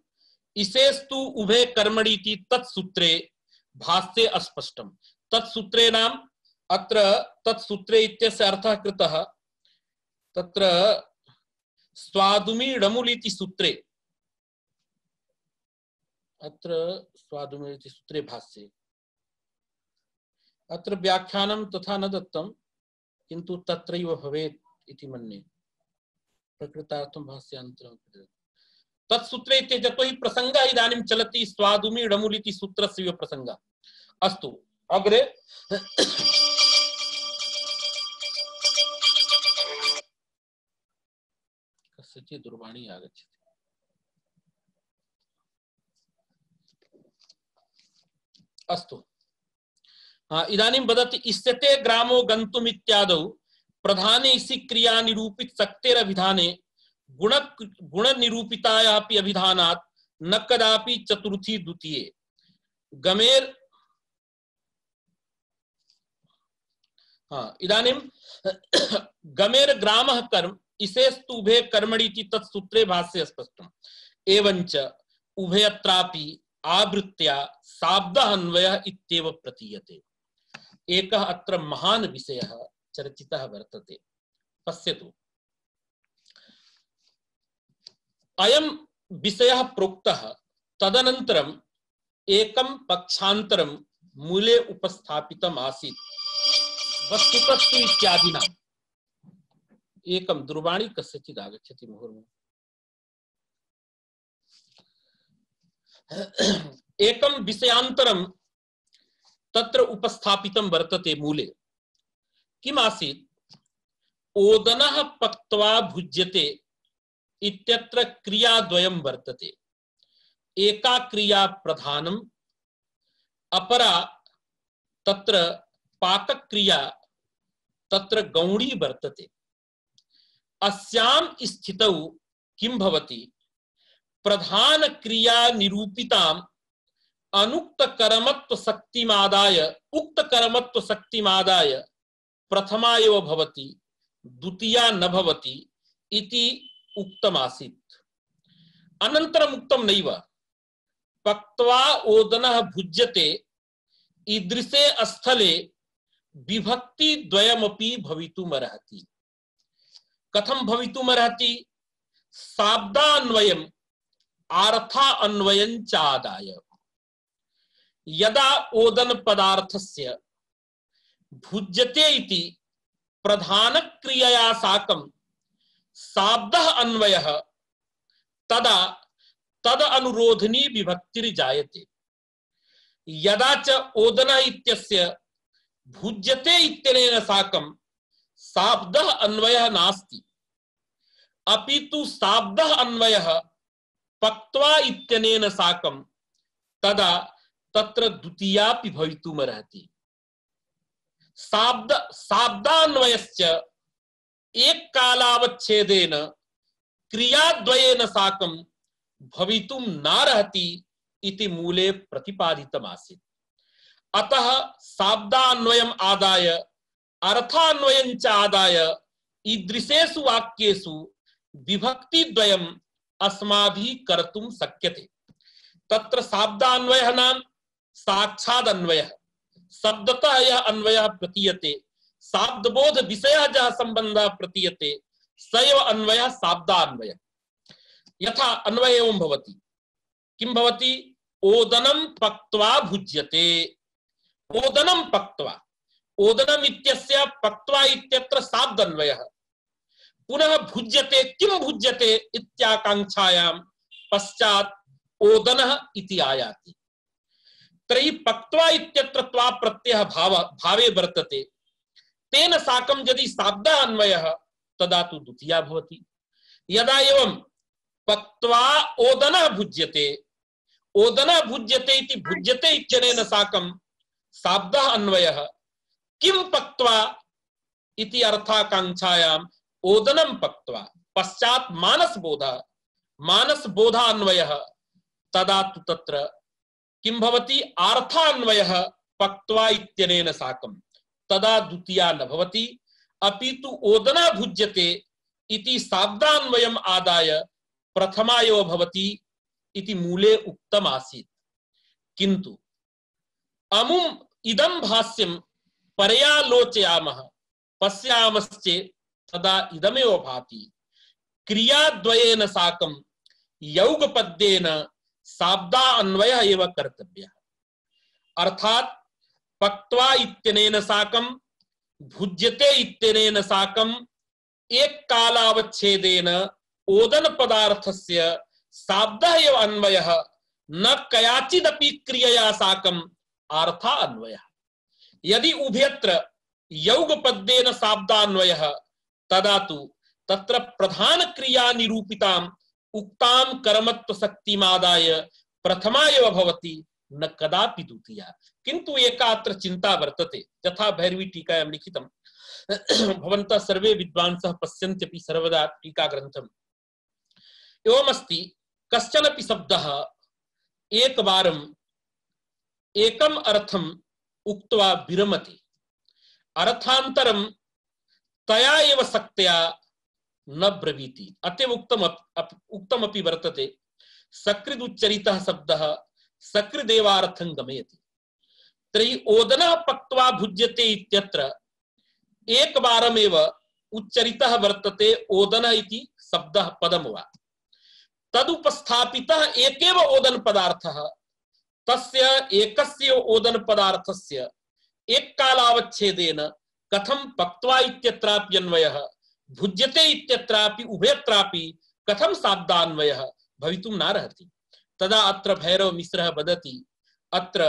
इसेस्तु उभे कर्मणीति तत्सूत्रे भाष्ये अस्पष्टम्। तत्सूत्रे नाम अत्र तत्सूत्रे इत्यस्य अर्थः कृतः तत्र स्वादुमीडमुलिति सूत्रे अत्र स्वादुमीडमुलिति सूत्रे भाष्ये अत्र व्याख्यानं तथा न दत्तं, किन्तु तत्रैव भवेत् इति मन्ये। प्रकृतार्थं भाष्यान्तरं तत्सूत्रे यतो हि प्रसंगः इदानीं चलति स्वादुमीडमुलिति सूत्रस्य प्रसंगः। अस्तु अग्रे कस्यचित् दूरवाणी आगच्छति। अस्तु इदानीं वदति इष्यते ग्रामो गन्तुम् इत्यादौ प्रधाने इसी क्रिया निरूपित शक्तेरभिधाने गुण गुण निरूपितायाः अपि अभिधानात् न कदापि चतुर्थी द्वितीये गमेर हाँ इदानीं गमेर ग्रामः कर्म इसेस्तु उभे कर्मणीति तत्सूत्रे भाष्ये स्पष्टम्। एवञ्च उभयत्रापि आवृत्त्या शाब्दः अन्वयः इत्येव प्रतीयते। एकः अत्र महान् विषयः चर्चितः वर्तते। पश्यतु अयं विषयः प्रोक्तः तदनन्तरम् एकं पक्षान्तरं मूले उपस्थापितम् आसीत् वस्तुतस्तु इत्यादिना। एकं दूरवाणी कस्यचित् आगच्छति मुहुर्मुहुः। एकं विषयान्तरं तत्र उपस्थापितं वर्तते मूले। किम् आसीत्? ओदनः पक्त्वा भुज्यते इत्यत्र क्रियाद्वयं वर्तते। एका क्रिया प्रधानम्, अपरा तत्र पाकक्रिया तत्र गौणी वर्तते। अस्यां स्थितौ किं भवति? प्रधान क्रिया निरूपितां अनुक्त कर्मत्व शक्तिमादाय उक्त कर्मत्व शक्तिमादाय प्रथमा एव भवति द्वितीया न भवति इति उक्तमासीत्। अनन्तरम् उक्तं नैव पक्त्वा ओदनः भुज्यते ईदृशे स्थले विभक्ति द्वयमपि भवितुमर्हति। कथं भवितुमर्हति? शाब्दान्वयम् अर्थान्वयं च आदाय। यदा ओदन पदार्थस्य भुज्यते इति प्रधान क्रियया साकं शाब्दः अन्वयः तदा तद अनुरोधनी विभक्तिर्जायते। यदा च ओदन इत्यस्य भुज्यते इत्यनेन साकं शाब्दः अन्वयः नास्ति, अपितु शाब्दः अन्वयः पक्त्वा इत्यनेन साकं तदा तत्र द्वितीयापि भवितुमर्हति। शाब्द शाब्दान्वयश्च एक कालावच्छेदेन क्रियाद्वयेन साकं भवितुं नार्हति इति मूले प्रतिपादितमासीत्। अतः शाब्दान्वयम् आदाय अर्थान्वयं च आदाय ईदृशेषु वाक्येषु विभक्तिद्वयम् अस्माभिः कर्तुं शक्यते। तत्र शाब्दान्वयः नाम साक्षात् अन्वयः, शब्दतः यह अन्वयः प्रतीयते, शाब्दबोध विषयः जः सम्बन्धः प्रतीयते स एव अन्वयः शाब्दान्वयः। यथा अन्वय एवं भवति, किं भवति? ओदनं पक्त्वा भुज्यते। ओदनं पक्त्वा, ओदनम् इत्यस्य पक्त्वा इत्यत्र शाब्दान्वयः। पुनः भुज्यते, किं भुज्यते इत्याकांक्षायां पश्चात् ओदनः इति आयाति। तर्हि पक्त्वा इत्यत्र त्वा प्रत्ययः भाव भावे वर्तते, तेन साकं यदि शाब्दः अन्वयः तदा तु द्वितीया भवति। यदा एवं पक्त्वा ओदनः भुज्यते, ओदनः भुज्यते इति भुज्यते इत्यनेन साकं शाब्दः अन्वयः, किं पक्त्वा इति अर्थाकांक्षायां ओदनं पक्त्वा पश्चात् मानसबोधः, मानसबोधान्वयः, तदा तु तत्र किं भवति? अर्थान्वयः पक्त्वा इत्यनेन साकं, तदा द्वितीया न भवति, अपितु ओदनः भुज्यते इति शाब्दान्वयम् आदाय प्रथमा एव भवति इति मूले उक्तम् आसीत्। किन्तु अमुम् इदं भाष्यं पर्यालोचयामः पश्यामश्चेत् तदा इदमेव भाति, क्रियाद्वयेन साकं यौगपद्येन शाब्दा अन्वयः एव कर्तव्यः। अर्थात् पक्त्वा इत्यनेन साकं भुज्यते इत्यनेन साकं एक कालावच्छेदेन ओदन पदार्थस्य शाब्दः एव अन्वयः, न कयाचिदपि क्रियया साकं अर्था अन्वयः। यदि उभयत्र यौगपद्येन शाब्दान्वयः तदा तु तत्र प्रधान क्रिया निरूपिताम् उक्तां कर्मत्व शक्तिमादाय प्रथमा एव भवति, न कदापि द्वितीया। किन्तु एका अत्र चिन्ता वर्तते, यथा भैरवी टीकायां लिखितं, भवन्तः सर्वे विद्वांसः पश्यन्त्यपि सर्वदा टीकाग्रन्थम्। एवमस्ति, कश्चनपि शब्दः एकवारम् एकम् अर्थम् उक्त्वा विरमति, अर्थान्तरं तया एव शक्त्या न ब्रवीति। अतएव उक्तम उक्तमपि वर्तते, सकृदुच्चरितः शब्दः सकृदेवार्थं गमयति। तर्हि ओदनः पक्त्वा भुज्यते इत्यत्र एकवारमेव उच्चरितः वर्तते ओदनः इति शब्दः पदं वा। तदुपस्थापितः एकेव ओदन पदार्थः, तस्य एकस्य ओदन पदार्थस्य एक कालावच्छेदेन कथं पक्त्वा इत्यत्रापि अन्वयः, भुज्यते इत्यत्रापि उभयत्रापि कथं शाब्दान्वयः भवितुं नार्हति। तदा अत्र भैरव मिश्रः वदति, अत्र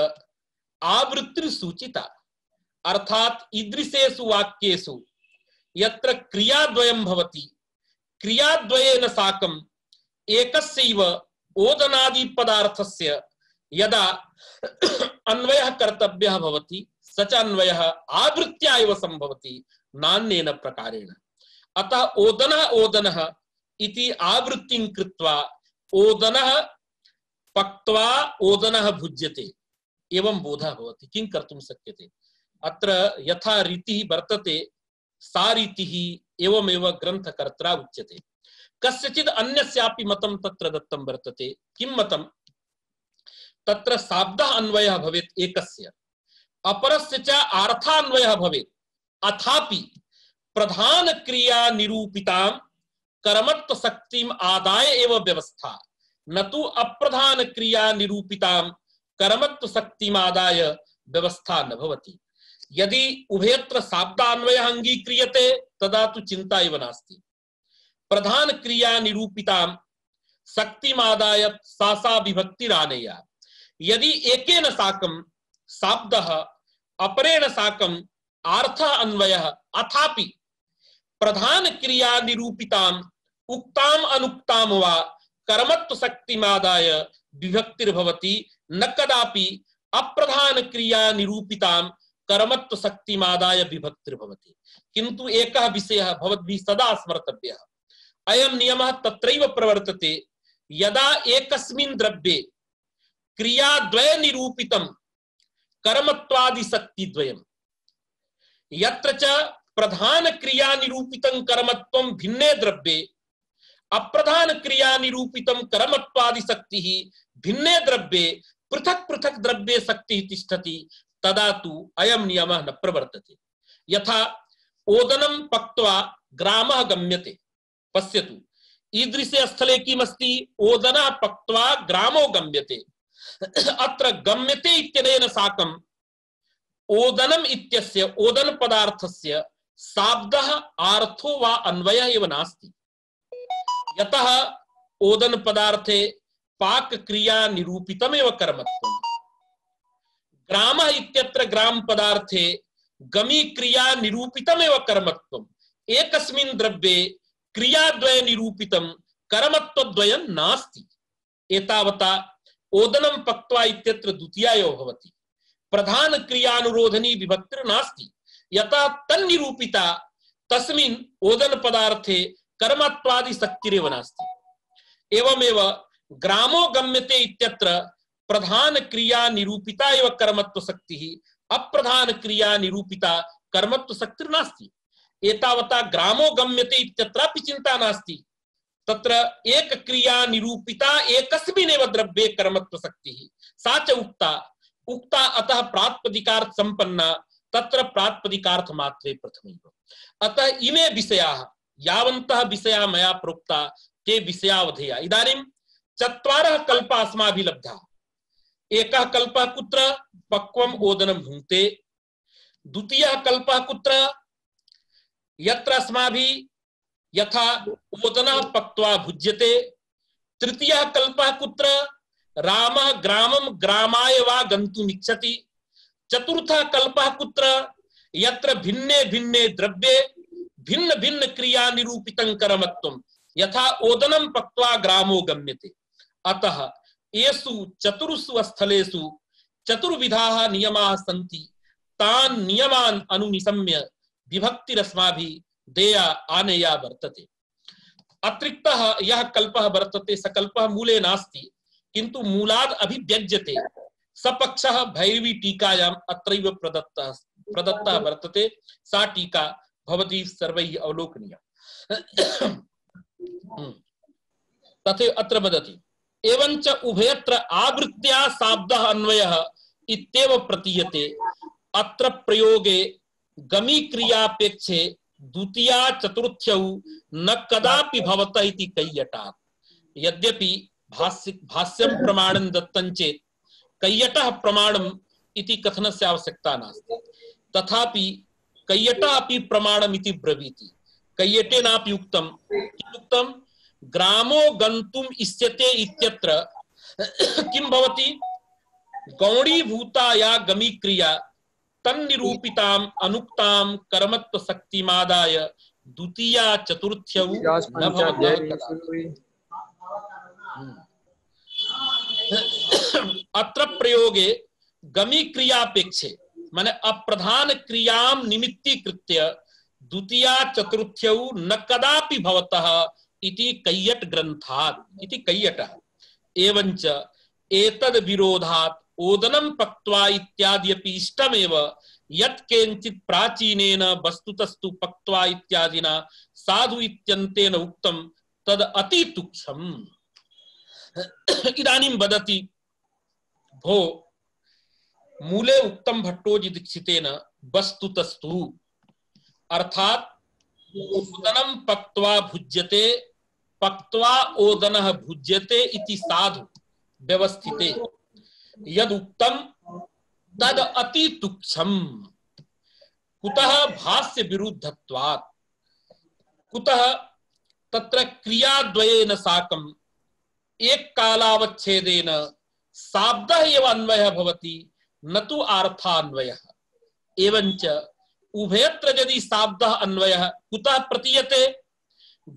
आवृत्तिः सूचिता, अर्थात् ईदृशेषु वाक्येषु यत्र क्रियाद्वयं भवति, क्रियाद्वयेन साकं एकस्यैव ओदनादि पदार्थस्य यदा अन्वयः कर्तव्यः भवति, स च अन्वयः आवृत्त्या एव संभवति, नान्येन प्रकारेण। अतः ओदनः ओदनः इति आवृत्तिं कृत्वा ओदनः पक्त्वा ओदनः भुज्यते एवं बोधः भवति। किं कर्तुं शक्यते? अत्र यथा रीतिः वर्तते सा रीतिः एवमेव ग्रन्थकर्त्रा उच्यते। कस्यचित् अन्यस्यापि मतं तत्र दत्तं वर्तते। किं मतं? तत्र शाब्दः अन्वयः भवेत् एकस्य, अपरस्य च अर्थान्वयः भवेत्, अथापि प्रधान क्रिया निरूपितां कर्मत्व शक्तिम् आदाय एव व्यवस्था, न तु अप्रधान क्रिया निरूपितां कर्मत्व शक्तिम् आदाय व्यवस्था न भवति। यदि उभयत्र शाब्दान्वयः अंगीक्रियते तदा तु चिंता एव नास्ति। प्रधान क्रिया निरूपितां शक्तिम् आदाय सा सा विभक्तिरानेया। यदि एकेन साकं शाब्दः अपरेण साकं अर्थः अन्वयः अथापि प्रधान क्रिया निरूपितां उक्ताम अनुक्तां वा कर्मत्व शक्तिमादाय विभक्तिर्भवति, न कदापि अप्रधान क्रिया निरूपितां कर्मत्व शक्तिमादाय विभक्तिर्भवति। किन्तु एकः विषयः भवद्भिः सदा स्मर्तव्यः। अयं नियमः तत्रैव प्रवर्तते यदा एकस्मिन् द्रव्ये क्रियाद्वय निरूपितं कर्मत्वादि शक्तिद्वयम्, यत्र च प्रधान क्रिया निरूपितं कर्मत्वं भिन्ने द्रव्ये अप्रधान क्रिया निरूपितं कर्मत्वादि शक्तिः भिन्ने द्रव्ये पृथक पृथक द्रव्ये शक्तिः तिष्ठति, तदा तु अयं नियमः न प्रवर्तते। यथा ओदनं पक्त्वा ग्रामः गम्यते। पश्यतु, ईदृशे स्थले किमस्ति? ओदनः पक्त्वा ग्रामो गम्यते। अत्र गम्यते इत्यनेन साकं ओदनम् इत्यस्य ओदन पदार्थस्य शाब्दः अर्थो वा अन्वयः एव नास्ति। यतः ओदन पदार्थे पाक क्रिया निरूपितमेव कर्मत्वम्। ग्रामः इत्यत्र ग्राम पदार्थे गमी क्रिया निरूपितमेव कर्मत्वम्। एकस्मिन् द्रव्ये क्रियाद्वय निरूपितं कर्मत्वद्वयं नास्ति। एतावता ओदनं पक्त्वा इत्यत्र द्वितीयायो भवति। प्रधान क्रियानुरोधनी विभक्तिर्नास्ति। यथा तन्निरूपिता तस्मिन् ओदन पदार्थे कर्मत्वादि शक्तिरेव नास्ति। एवमेव ग्रामो गम्यते इत्यत्र प्रधान क्रिया निरूपिता एव कर्मत्व शक्तिः, अप्रधान क्रिया निरूपिता कर्मत्व शक्तिर्नास्ति। एतावता ग्रामो गम्यते इत्यत्रापि चिंता नास्ति। तत्र एक क्रिया निरूपिता एकस्मिन्नेव द्रव्ये कर्मत्व शक्तिः, सा च उक्ता उक्ता अतः प्रातिपदिकार्थ संपन्ना, तत्र प्रातिपदिकार्थ मात्रे प्रथमैव। अतः इमे विषयाः, यावन्तः विषयाः मया प्रोक्ता ते विषयावधेया। इदानीं चत्वारः कल्पाः अस्माभिः लब्धाः। एकः कल्पः कुत्र? पक्वम् ओदनं भुङ्क्ते। द्वितीयः कल्पः कुत्र? यत्र अस्माभिः यथा ओदनः पक्त्वा भुज्यते। तृतीयः कल्पः कुत्र? रामः ग्रामं ग्रामाय वा गन्तुम् इच्छति। चतुर्थः कल्पः कुत्र? यत्र भिन्ने भिन्ने द्रव्ये भिन्न भिन्न क्रिया निरूपितं कर्मत्वं, यथा ओदनं पक्त्वा ग्रामो गम्यते। अतः येषु चतुर्षु स्थलेषु चतुर्विधाः नियमाः सन्ति, तान् नियमान् अनुनिशम्य विभक्तिरस्माभिः देया आनेया वर्तते। अतिरिक्तः यः कल्पः वर्तते स कल्पः मूले नास्ति, किन्तु मूलाद् अभिव्यज्यते। सपक्षः भैरवी टीकायाम् अत्रैव प्रदत्तः प्रदत्तः वर्तते। सा टीका भवती सर्वैः अवलोकनीया। तथैव अत्र वदति, एवञ्च उभयत्र आवृत्त्या शाब्दः अन्वयः इत्येव प्रतीयते। अत्र प्रयोगे गमी क्रियापेक्षे द्वितीया चतुर्थ्यौ न कदापि भवतः इति कैयटात्। यद्यपि भाष्य भाष्यं प्रमाणं दत्तं चेत् कैयटः प्रमाणम् इति कथनस्य आवश्यकता नास्ति। तथापि कैयटः अपि प्रमाणम् इति ब्रवीति। कैयटेनापि उक्तं, किमुक्तं? ग्रामो गन्तुम् इष्यते इत्यत्र किं भवति? गौणीभूता या गमी क्रिया तन्निरूपिताम् अनुक्तां कर्मत्व शक्तिमादाय द्वितीया चतुर्थ्यौ न भवतः। अत्र प्रयोगे गमी क्रियापेक्षे माने अप्रधान क्रियां निमित्तीकृत्य द्वितीया चतुर्थ्यौ न कदापि भवतः इति कैयट ग्रन्थात् इति कैयटः। एवञ्च एतद् विरोधात् ओदनं पक्त्वा इत्याद्यपि इष्टमेव यत् केनचित् प्राचीनेन वस्तुतस्तु पक्त्वा इत्यादिना साधु इत्यन्तेन उक्तं तद् अति तुच्छम्। इदानीं वदति भो मूले उक्तं भट्टोजी दीक्षितेन वस्तुतस्तु अर्थात ओदनं पक्त्वा भुज्यते पक्त्वा ओदनः भुज्यते इति साधु व्यवस्थिते यद उक्तं तद अति तुच्छम्। कुतः भाष्य विरुद्धत्वात् कुतः तत्र क्रियाद्वयेन साकम् एक कालावच्छेदेन शाब्दः एव अन्वयः भवति न तु अर्थान्वयः। एवञ्च उभयत्र यदि शाब्दः अन्वयः कुतः प्रतीयते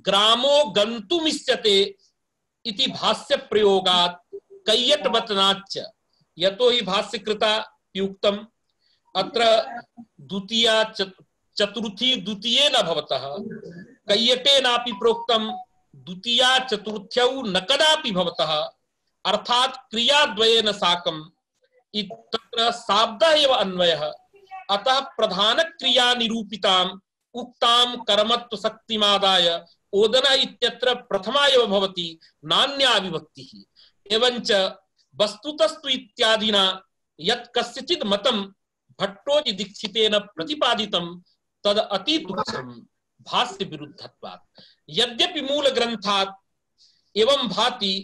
ग्रामो गन्तुमिष्यते इति भाष्य प्रयोगात् कैयटवचनाच्च यतो हि भाष्यकृता युक्तम् अत्र द्वितीया चतुर्थी द्वितीयेन भवतः कैयटेनापि प्रोक्तं द्वितीया चतुर्थ्यौ न कदापि भवतः अर्थात क्रियाद्वयेन साकम् तत्र शाब्दः एव अन्वयः। अतः प्रधान क्रिया निरूपिताम् उक्तां कर्मत्व शक्तिमादाय ओदन इत्यत्र प्रथमा एव भवति नान्या विभक्तिः। एवञ्च वस्तुतस्तु इत्यादिना यत् कस्यचित् मतं भट्टोजी दीक्षितेन प्रतिपादितं तद अति तुच्छम् भाष्य विरुद्धत्वात्। यद्यपि मूल ग्रंथात् एवं भाति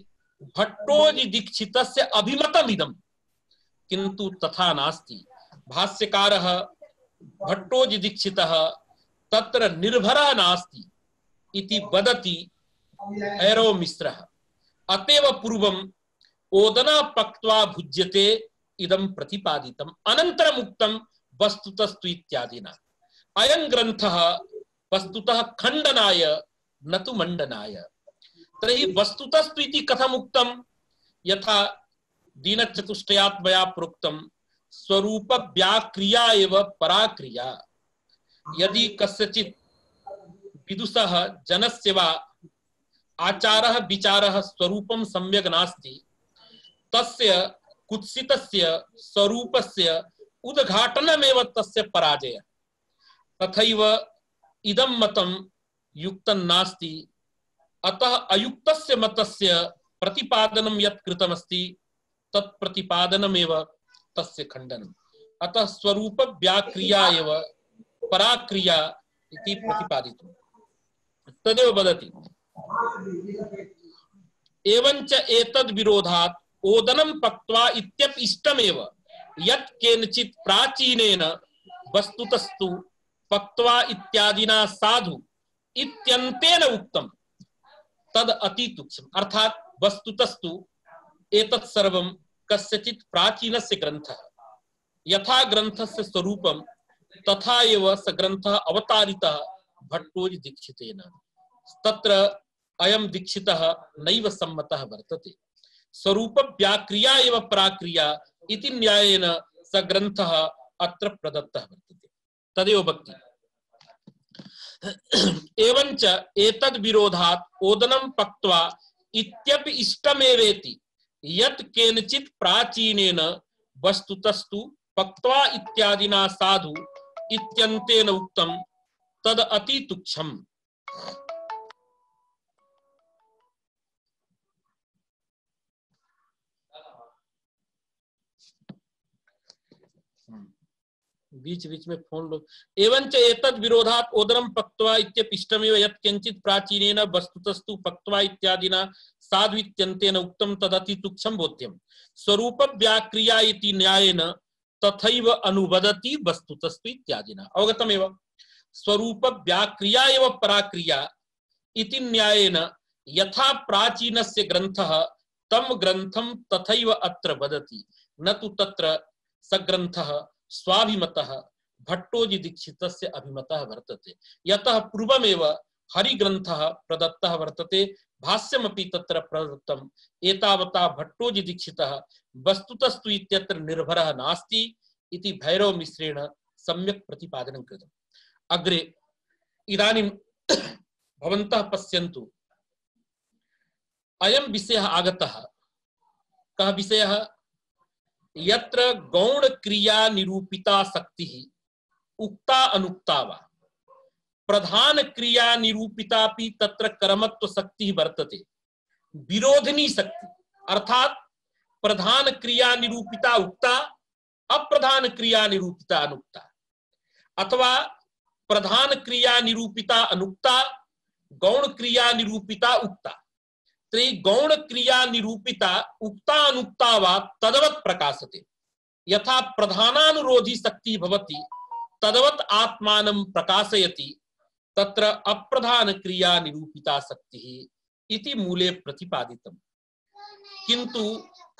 भट्टोजी दीक्षितस्य अभिमतमिदं किन्तु तथा नास्ति। भाष्यकारः भट्टोजी दीक्षितः तत्र निर्भरः नास्ति इति वदति भैरव मिश्रः। अतएव पूर्वम् ओदना पक्त्वा भुज्यते इदं प्रतिपादितम् अनन्तरम् उक्तं वस्तुतस्तु इत्यादिना। अयं ग्रन्थः वस्तुतः खण्डनाय न तु मण्डनाय। तर्हि वस्तुतस्तु इति कथम् उक्तं यथा दीनचतुष्टयात् मया प्रोक्तं स्वरूप व्याक्रिया एव पराक्रिया। यदि कस्यचित् विदुषः जनस्य वा आचारः विचारः स्वरूपं सम्यक् नास्ति तस्य कुत्सितस्य स्वरूपस्य उद्घाटनमेव तस्य पराजयः। तथैव इदं मतं युक्तं नास्ति। अतः अयुक्तस्य मतस्य प्रतिपादनं यत् कृतमस्ति तत् प्रतिपादनमेव तस्य खण्डनम्। अतः स्वरूप व्याक्रिया एव पराक्रिया इति प्रतिपादितम्। तदेव वदति एवञ्च एतद् विरोधात् ओदनं पक्त्वा इत्यपि इष्टमेव यत् केनचित् प्राचीनेन वस्तुतस्तु पक्त्वा इत्यादिना साधु इत्यन्तेन उक्तं तद अति तुच्छम्। अर्थात वस्तुतस्तु एतत् सर्वं कस्यचित् प्राचीनस्य ग्रन्थः। यथा ग्रन्थस्य स्वरूपं तथा एव स ग्रन्थः अवतारितः भट्टोजी दीक्षितेन। तत्र अयं दीक्षितः नैव सम्मतः वर्तते। स्वरूप व्याक्रिया एव पराक्रिया इति न्यायेन स ग्रन्थः अत्र प्रदत्तः वर्तते। तदेव भक्ति। एवञ्च एतद् विरोधात् ओदनं पक्त्वा इत्यपि इष्टमेवेति यत् केनचित् प्राचीनेन वस्तुतस्तु पक्त्वा इत्यादिना साधु इत्यन्तेन उक्तं तद अति तुच्छम्। बीच बीच में फोन लो। एवंच एतद् विरोधात् ओदनं पक्त्वा इत्यपि इष्टमेव यत् किंचित् प्राचीनेन वस्तुतस्तु पक्त्वा इत्यादिना साधु इत्यन्तेन उक्तं तदति तुच्छं बोध्यम्। स्वरूप व्याक्रिया इति न्यायेन तथैव अनुवदति वस्तुतस्तु इत्यादिना। अवगतमेव। स्वरूप व्याक्रिया एव पराक्रिया इति न्यायेन यथा प्राचीनस्य ग्रन्थः तं ग्रन्थं तथैव अत्र वदति न तु तत्र सग्रन्थः स्वाभिमतः भट्टोजी दीक्षितस्य अभिमतः वर्तते। यतः पूर्वमेव हरिग्रन्थः प्रदत्तः वर्तते भाष्यमपि तत्र प्रदत्तम्। एतावता भट्टोजी दीक्षितः वस्तुतस्तु इत्यत्र निर्भरः नास्ति इति भैरव मिश्रेण सम्यक् प्रतिपादनं कृतम्। अग्रे इदानीं भवन्तः पश्यन्तु अयं विषयः आगतः कः विषयः यत्र गौण क्रिया निरूपिता शक्तिः उक्ता अनुक्ता वा प्रधान क्रिया निरूपितापि तत्र कर्मत्व शक्तिः वर्तते विरोधिनी शक्ति अर्थात प्रधान क्रिया निरूपिता उक्ता अप्रधान क्रिया निरूपिता अनुक्ता अथवा प्रधान क्रिया निरूपिता अनुक्ता गौण क्रिया निरूपिता उक्ता तो गौण क्रिया निरूपिता उक्ता अनुक्ता वा तदवत् प्रकाशते यथा प्रधानानुरोधी शक्ति भवति तदवत् आत्मानं प्रकाशयति तत्र अप्रधान क्रिया निरूपिता शक्तिः इति मूले प्रतिपादितम् किंतु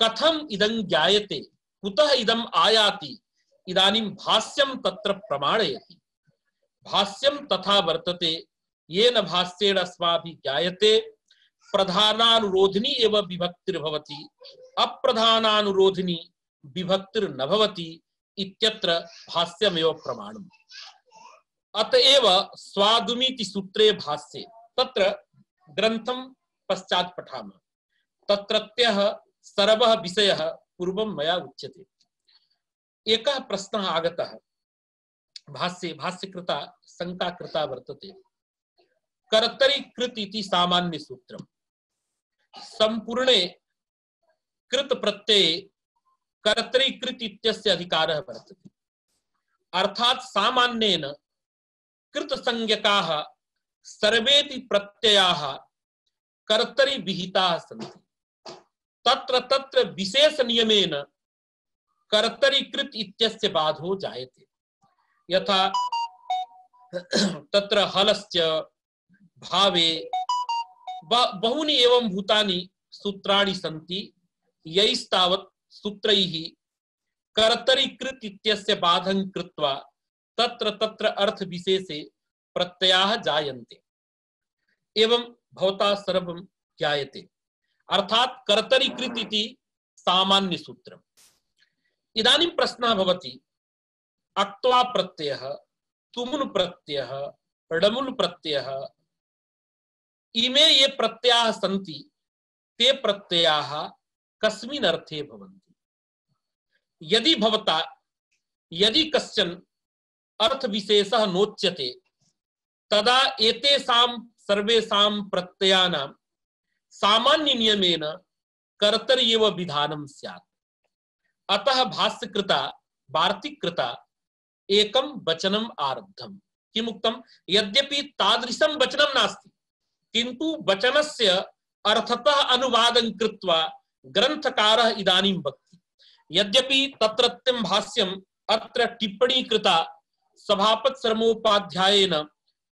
कथम इदं ज्ञायते कुतः इदं आयाति इदानीं भाष्यं तत्र प्रमाणयति भाष्यं तथा वर्तते येन भाष्येण अस्माभिः ज्ञायते प्रधानानुरोधिनी एव विभक्तिर्भवति अप्रधानानुरोधिनी विभक्तिर्न भवति इत्यत्र भाष्यमेव प्रमाणम् अतएव स्वादुमीति सूत्रे भाष्ये तत्र ग्रंथं पश्चात् पठामः तत्रत्यः सर्वः विषयः पूर्वं मया उच्यते एकः प्रश्नः आगतः भाष्ये भाष्यकृता शंका कृता वर्तते कर्तरि कृत इति सामान्य सूत्रम् संपूर्णे कृत प्रत्यये कर्तरि कृत इत्यस्य अधिकारः वर्तते अर्थात सामान्येन कृत संज्ञकाः सर्वेपि प्रत्ययाः कर्तरि विहिताः सन्ति तत्र तत्र विशेष नियमेन कर्तरि कृत इत्यस्य बाधो जायते यथा तत्र हलस्य भावे बहूनि एवं भूतानि सूत्राणि सन्ति यैस्तावत् सूत्रैः कर्तरि कृत इत्यस्य बाधं कृत्वा तत्र तत्र अर्थ विशेषे प्रत्ययाः जायन्ते एवं भवता सर्वं ज्ञायते अर्थात कर्तरि कृत इति सामान्य सूत्रम् इदानीं प्रश्नः भवति अक्त्वा प्रत्ययः तुमुन् प्रत्ययः ड़मुल् प्रत्ययः इमे ये प्रत्ययाः सन्ति ते प्रत्ययाः कस्मिन् अर्थे भवन्ति यदि भवता यदि कश्चन अर्थ विशेषः नोच्यते तदा एतेषां सर्वेषां प्रत्ययानां सामान्य नियमेन कर्तरि एव विधानं स्यात् अतः भाष्यकृता वार्तिककृता एकं वचनम् आरब्धम् किमुक्तं यद्यपि तादृशं वचनं नास्ति किन्तु वचनस्य अर्थतः अनुवादं कृत्वा ग्रन्थकारः इदानीं वक्ति यद्यपि तत्रत्यं भाष्यम् अत्र टिप्पणी कृता सभापति शर्मोपाध्यायेन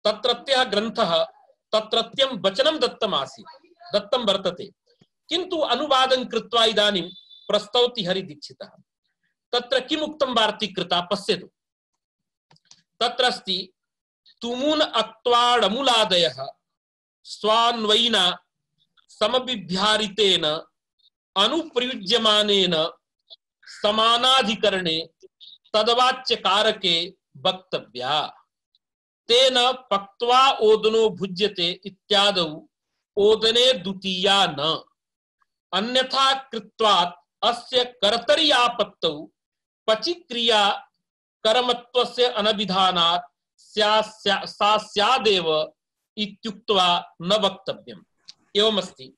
तत्रत्यः ग्रन्थः तत्रत्यं वचनं दत्तम् आसीत् दत्तं वर्तते किन्तु अनुवादं कृत्वा इदानीं प्रस्तौति हरिदीक्षितः तत्र किम् उक्तं वार्तिककृता पश्यतु तत्र अस्ति तुमुन् अक्त्वा ड़मुलादयः स्वान्वयिना समभिव्याहृतेन अनुप्रयुज्यमानेन समानाधिकरणे तद्वाच्यकारके वक्तव्या तेन पक्त्वा ओदनो भुज्यते इत्यादौ ओदने द्वितीया न अन्यथा कृत्वात् अस्य कर्तरि आपत्तौ पचि क्रिया कर्मत्वस्य अनभिधानात् सा स्यादेव इत्युक्त्वा न वक्तव्यम् एवमस्ति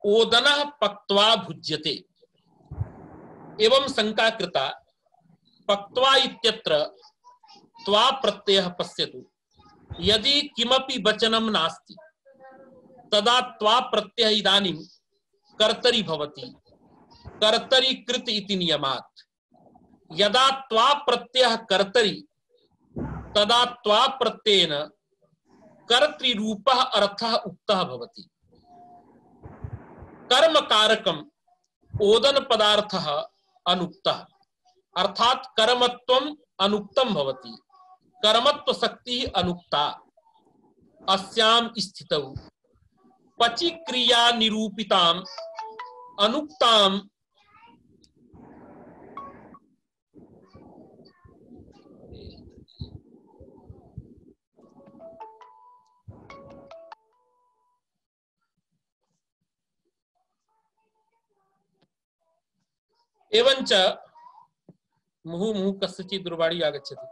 ओदनः पक्त्वा भुज्यते एवं शंका कृता पक्त्वा इत्यत्र त्वा प्रत्ययः पश्यतु यदि किमपि वचनं नास्ति तदा त्वा प्रत्ययः इदानीं कर्तरि भवति कर्तरि कृत इति नियमात् यदा त्वा प्रत्ययः कर्तरि तदा त्वा प्रत्ययेन कर्तृरूपः अर्थः उक्तः भवति कर्म कारकम् ओदन पदार्थः अनुक्तः अर्थात कर्मत्वम् अनुक्तं भवति कर्मत्व शक्तिः अनुक्ता अस्यां स्थितौ पचि क्रिया निरूपिताम् अनुक्ताम् एवंच मुहु मुहु कस्यचित् दूरवाणी आगच्छति।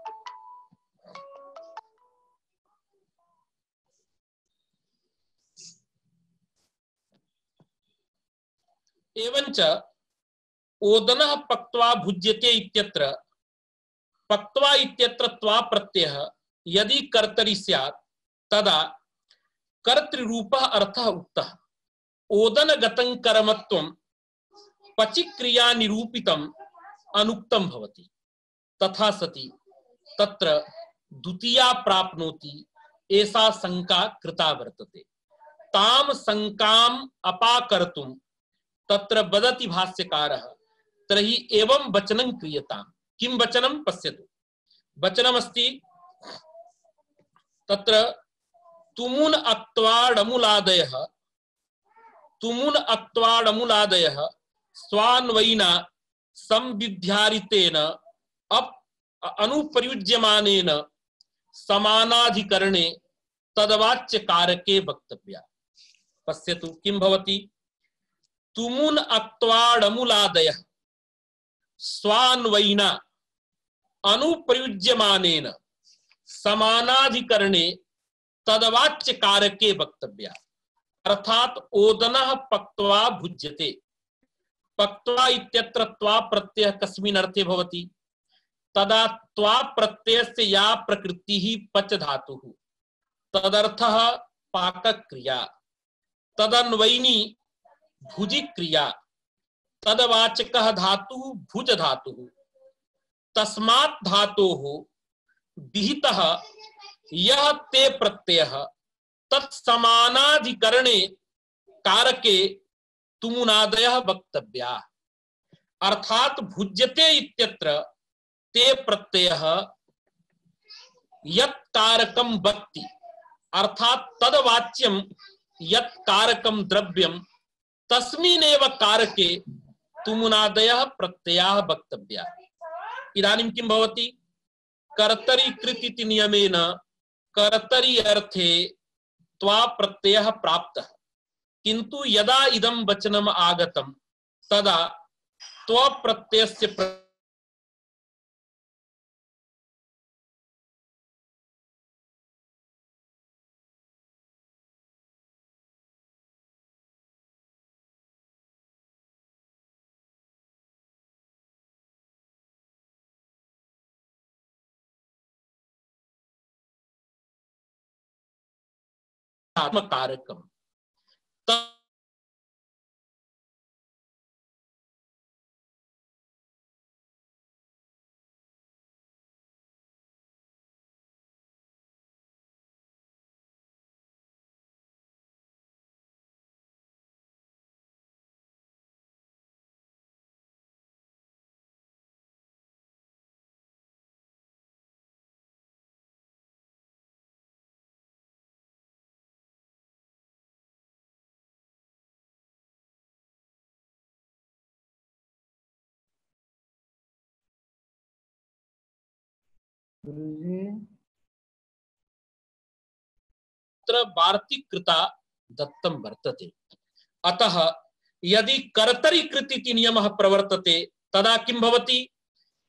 एवंच ओदनः पक्त्वा भुज्यते इत्यत्र पक्त्वा इत्यत्र त्वा प्रत्ययः यदि कर्तरि स्यात् तदा कर्तृरूपः अर्थः उक्तः। ओदनगतं कर्मत्वं पचिक्रिया निरूपितम् अनुक्तं भवति। तथा सति तत्र द्वितीया प्राप्नोति एषा शंका कृता वर्तते। ताम शंकाम् अपाकर्तुं तत्र वदति भाष्यकारः तर्हि एवं वचनं क्रियताम्। किं वचनं पश्यतु। वचनमस्ति तत्र तुमुन अक्त्वाडमुलादयः तुमुन अक्त्वाडमुलादयः स्वान्वयिना संविध्यारितेन अप अनुप्रयुज्यमानेन समानाधिकरणे तदवाच्य कारके वक्तव्या। पश्यतु किं भवति। तुमुन अक्त्वाडमुलादयः स्वान्वयिना अनुप्रयुज्यमानेन समानाधिकरणे तदवाच्य कारके वक्तव्या। अर्थात ओदनः पक्त्वा भुज्यते। पक्त्वा इत्यत्र त्वा प्रत्ययः कस्मिन् अर्थे भवति। तदा त्वा प्रत्ययस्य या प्रकृतिः पच धातुः तदर्थः पाकक्रिया। तदन्वयिनी भुजि क्रिया। तदवाचकः धातुः भुज धातुः। तस्मात् धातोः विहितः यः ते प्रत्ययः तत्समानाधिकरणे कारके तुमुनादयः वक्तव्या। अर्थात भुज्यते इत्यत्र ते प्रत्ययः यत् कारकं वक्ति अर्थात तदवाच्यं यत् कारकं द्रव्यं तस्मिन्नेव कारके तुमुनादयः प्रत्ययाः वक्तव्या। इदानीं किं भवति। कर्तरि कृत् इति नियमेन कर्तरि अर्थे त्वा प्रत्ययः प्राप्तः। किंतु यदा इदं वचनम् आगतं तदा त्व प्रत्ययस्य प्र... कारकम वार्तिक कृता दत्तं वर्तते। अतः यदि कर्तरि कृत् इति नियमः प्रवर्तते तदा किं भवति।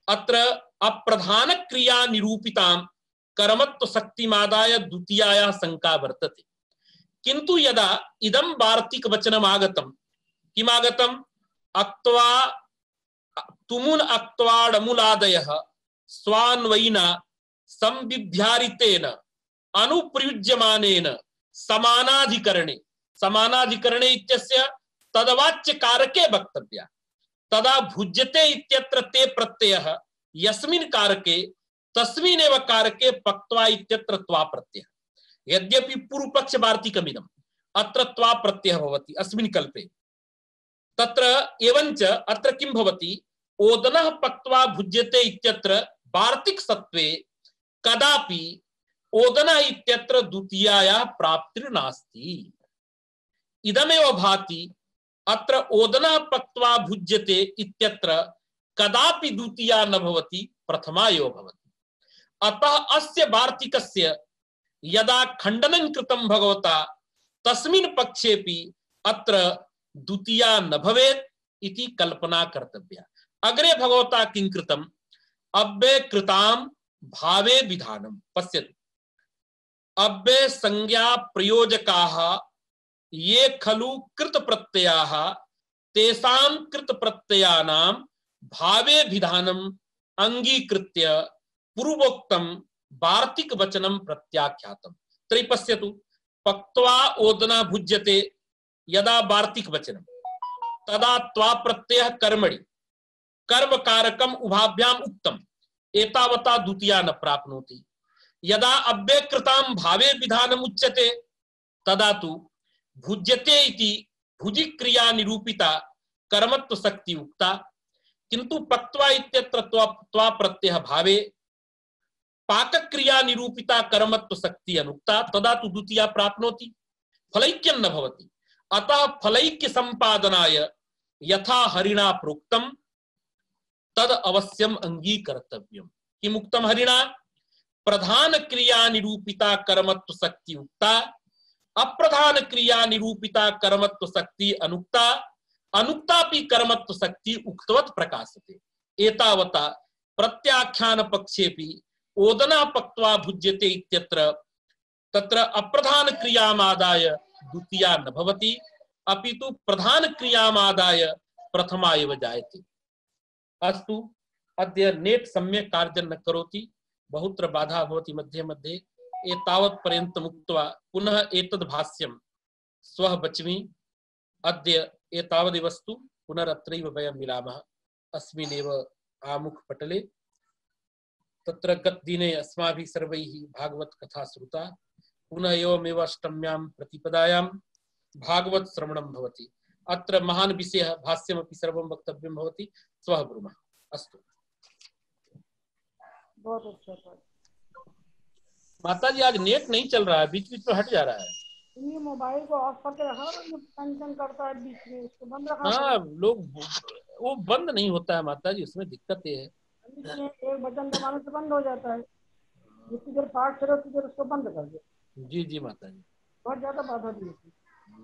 अत्र अप्रधान क्रिया निरूपितां कर्मत्व शक्तिमादाय द्वितीयायाः शंका वर्तते। किंतु यदा इदं वार्तिक वचनम् आगतं किम् आगतम्। अक्त्वा तुमुन अक्त्वाडमुलादयः स्वान्वयिना संविध्यारितेन अनुप्रयुज्यमानेन समानाधिकरणे समानाधिकरणे इत्यस्य तदवाच्य कारके वक्तव्या। तदा भुज्यते इत्यत्र ते प्रत्ययः यस्मिन् कारके तस्मिन्नेव कारके पक्त्वा इत्यत्र त्वा प्रत्ययः। यद्यपि पूर्व पक्ष वार्तिकमिदम् अत्र त्वा प्रत्ययः भवति अस्मिन् कल्पे। तत्र एवंच अत्र किं भवति। ओदनः पक्त्वा भुज्यते इत्यत्र वार्तिक सत्वे कदापि ओदनः इत्यत्र द्वितीयायाः प्राप्तिर्नास्ति। इदमेव भाति। अत्र ओदनः पक्त्वा भुज्यते इत्यत्र कदापि द्वितीया न भवति प्रथमा एव भवति। अतः अस्य वार्तिकस्य यदा खंडनं कृतं भगवता तस्मिन् पक्षेपि अत्र द्वितीया न भवेत् इति कल्पना कर्तव्या। अग्रे भगवता किं कृतम् अव्यय कृताम भावे विधानम पश्यतु अव्यय संज्ञा प्रयोजकाः ये खलु कृत प्रत्ययाः तेषां कृत प्रत्ययानां भावे विधानम अंगीकृत्य पूर्वोक्तम वार्तिक वचनम प्रत्याख्यातम। तर्हि पश्यतु पक्त्वा ओदना भुज्यते यदा वार्तिक वचनम तदा त्वा प्रत्ययः कर्मणि कर्म कारकम उभाभ्याम उक्तम एतावता द्वितीया न प्राप्नोति। यदा अव्यकृतां भावे विधानम उच्यते तदा तु भुज्यते इति भुजि क्रिया निरूपिता कर्मत्व शक्ति उक्ता किंतु पक्त्वा इत्यत्र त्वा त्वा प्रत्यय भावे पाक क्रिया निरूपिता कर्मत्व शक्ति अनुक्ता तदा तु द्वितीया प्राप्नोति फलैक्यं न भवति। अतः फलैक्य संपादनाय यथा हरिणा प्रोक्तम तद अवश्यम अंगीकर्तव्यम। किम उक्तम हरिणा प्रधान क्रिया निरूपिता कर्मत्व शक्ति उक्ता अप्रधान क्रिया निरूपिता कर्मत्व शक्ति अनुक्ता अनुक्तापि कर्मत्व शक्ति उक्तवत प्रकाशते। एतावता प्रत्याख्यान पक्षेपि ओदना पक्त्वा भुज्यते इत्यत्र तत्र अप्रधान क्रियामादाय द्वितीया न भवति अपितु प्रधान क्रियामादाय प्रथमा एव जायते। अस्तु अद्य नेट सम्यक् कार्यं न करोति बहुत्र बाधा भवति मध्ये मध्ये एतावत् पर्यन्तम् उक्त्वा पुनः एतद् भाष्यं श्वः वच्मि। अद्य एतावदेवस्तु पुनरत्रैव वयं मिलामः अस्मिन्नेव आमुखपटले। तत्र गतदिने अस्माभिः सर्वैः भागवत कथा श्रुता पुनः एवमेव अष्टम्यां प्रतिपदायां भागवत श्रवणं भवति। अत्र महान् विषयः भाष्यमपि सर्वं वक्तव्यं भवति श्वः ब्रूमः। अस्तु बहुत अच्छा। माता जी आज नेट नहीं चल रहा है बीच बीच में हट जा रहा है। ये मोबाइल को ऑफ करके रखा और जो टेंशन करता है बीच में उसको बंद रखा। हाँ लोग वो बंद नहीं होता है माता जी उसमें दिक्कत ये है एक बटन दबाने से बंद हो जाता है जितनी देर पाठ करो उतनी देर उसको बंद कर दो। जी जी माता जी बहुत ज्यादा बाधा दी थी।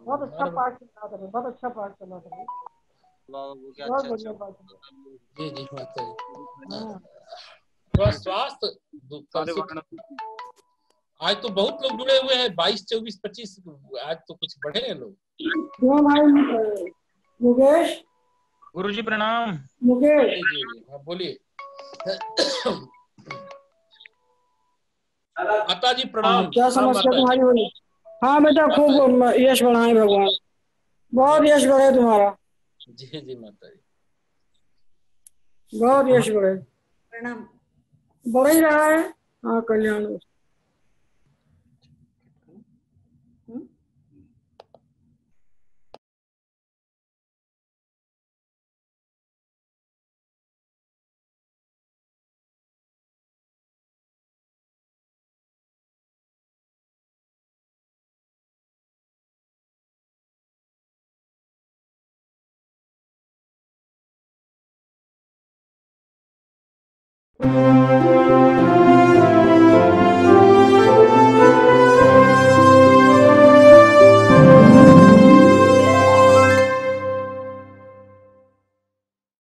बहुत अच्छा पाठ चला था बहुत अच्छा पाठ चला था बहुत बढ़िया पाठ। जी जी माता जी थोड़ा स्वास्थ्य आज तो बहुत लोग जुड़े हुए हैं बाईस चौबीस पच्चीस आज तो कुछ बढ़े हैं लोग। क्यों भाई मुकेश गुरुजी प्रणाम। मुकेश जी जी हाँ बोलिए माता जी प्रणाम। क्या समस्या तुम्हारी बोली। हाँ बेटा खूब यश बढ़ाए भगवान बहुत यश बढ़े तुम्हारा। जी जी माता जी बहुत यश बढ़े प्रणाम बढ़ ही रहा है। हाँ कल्याण Thank you.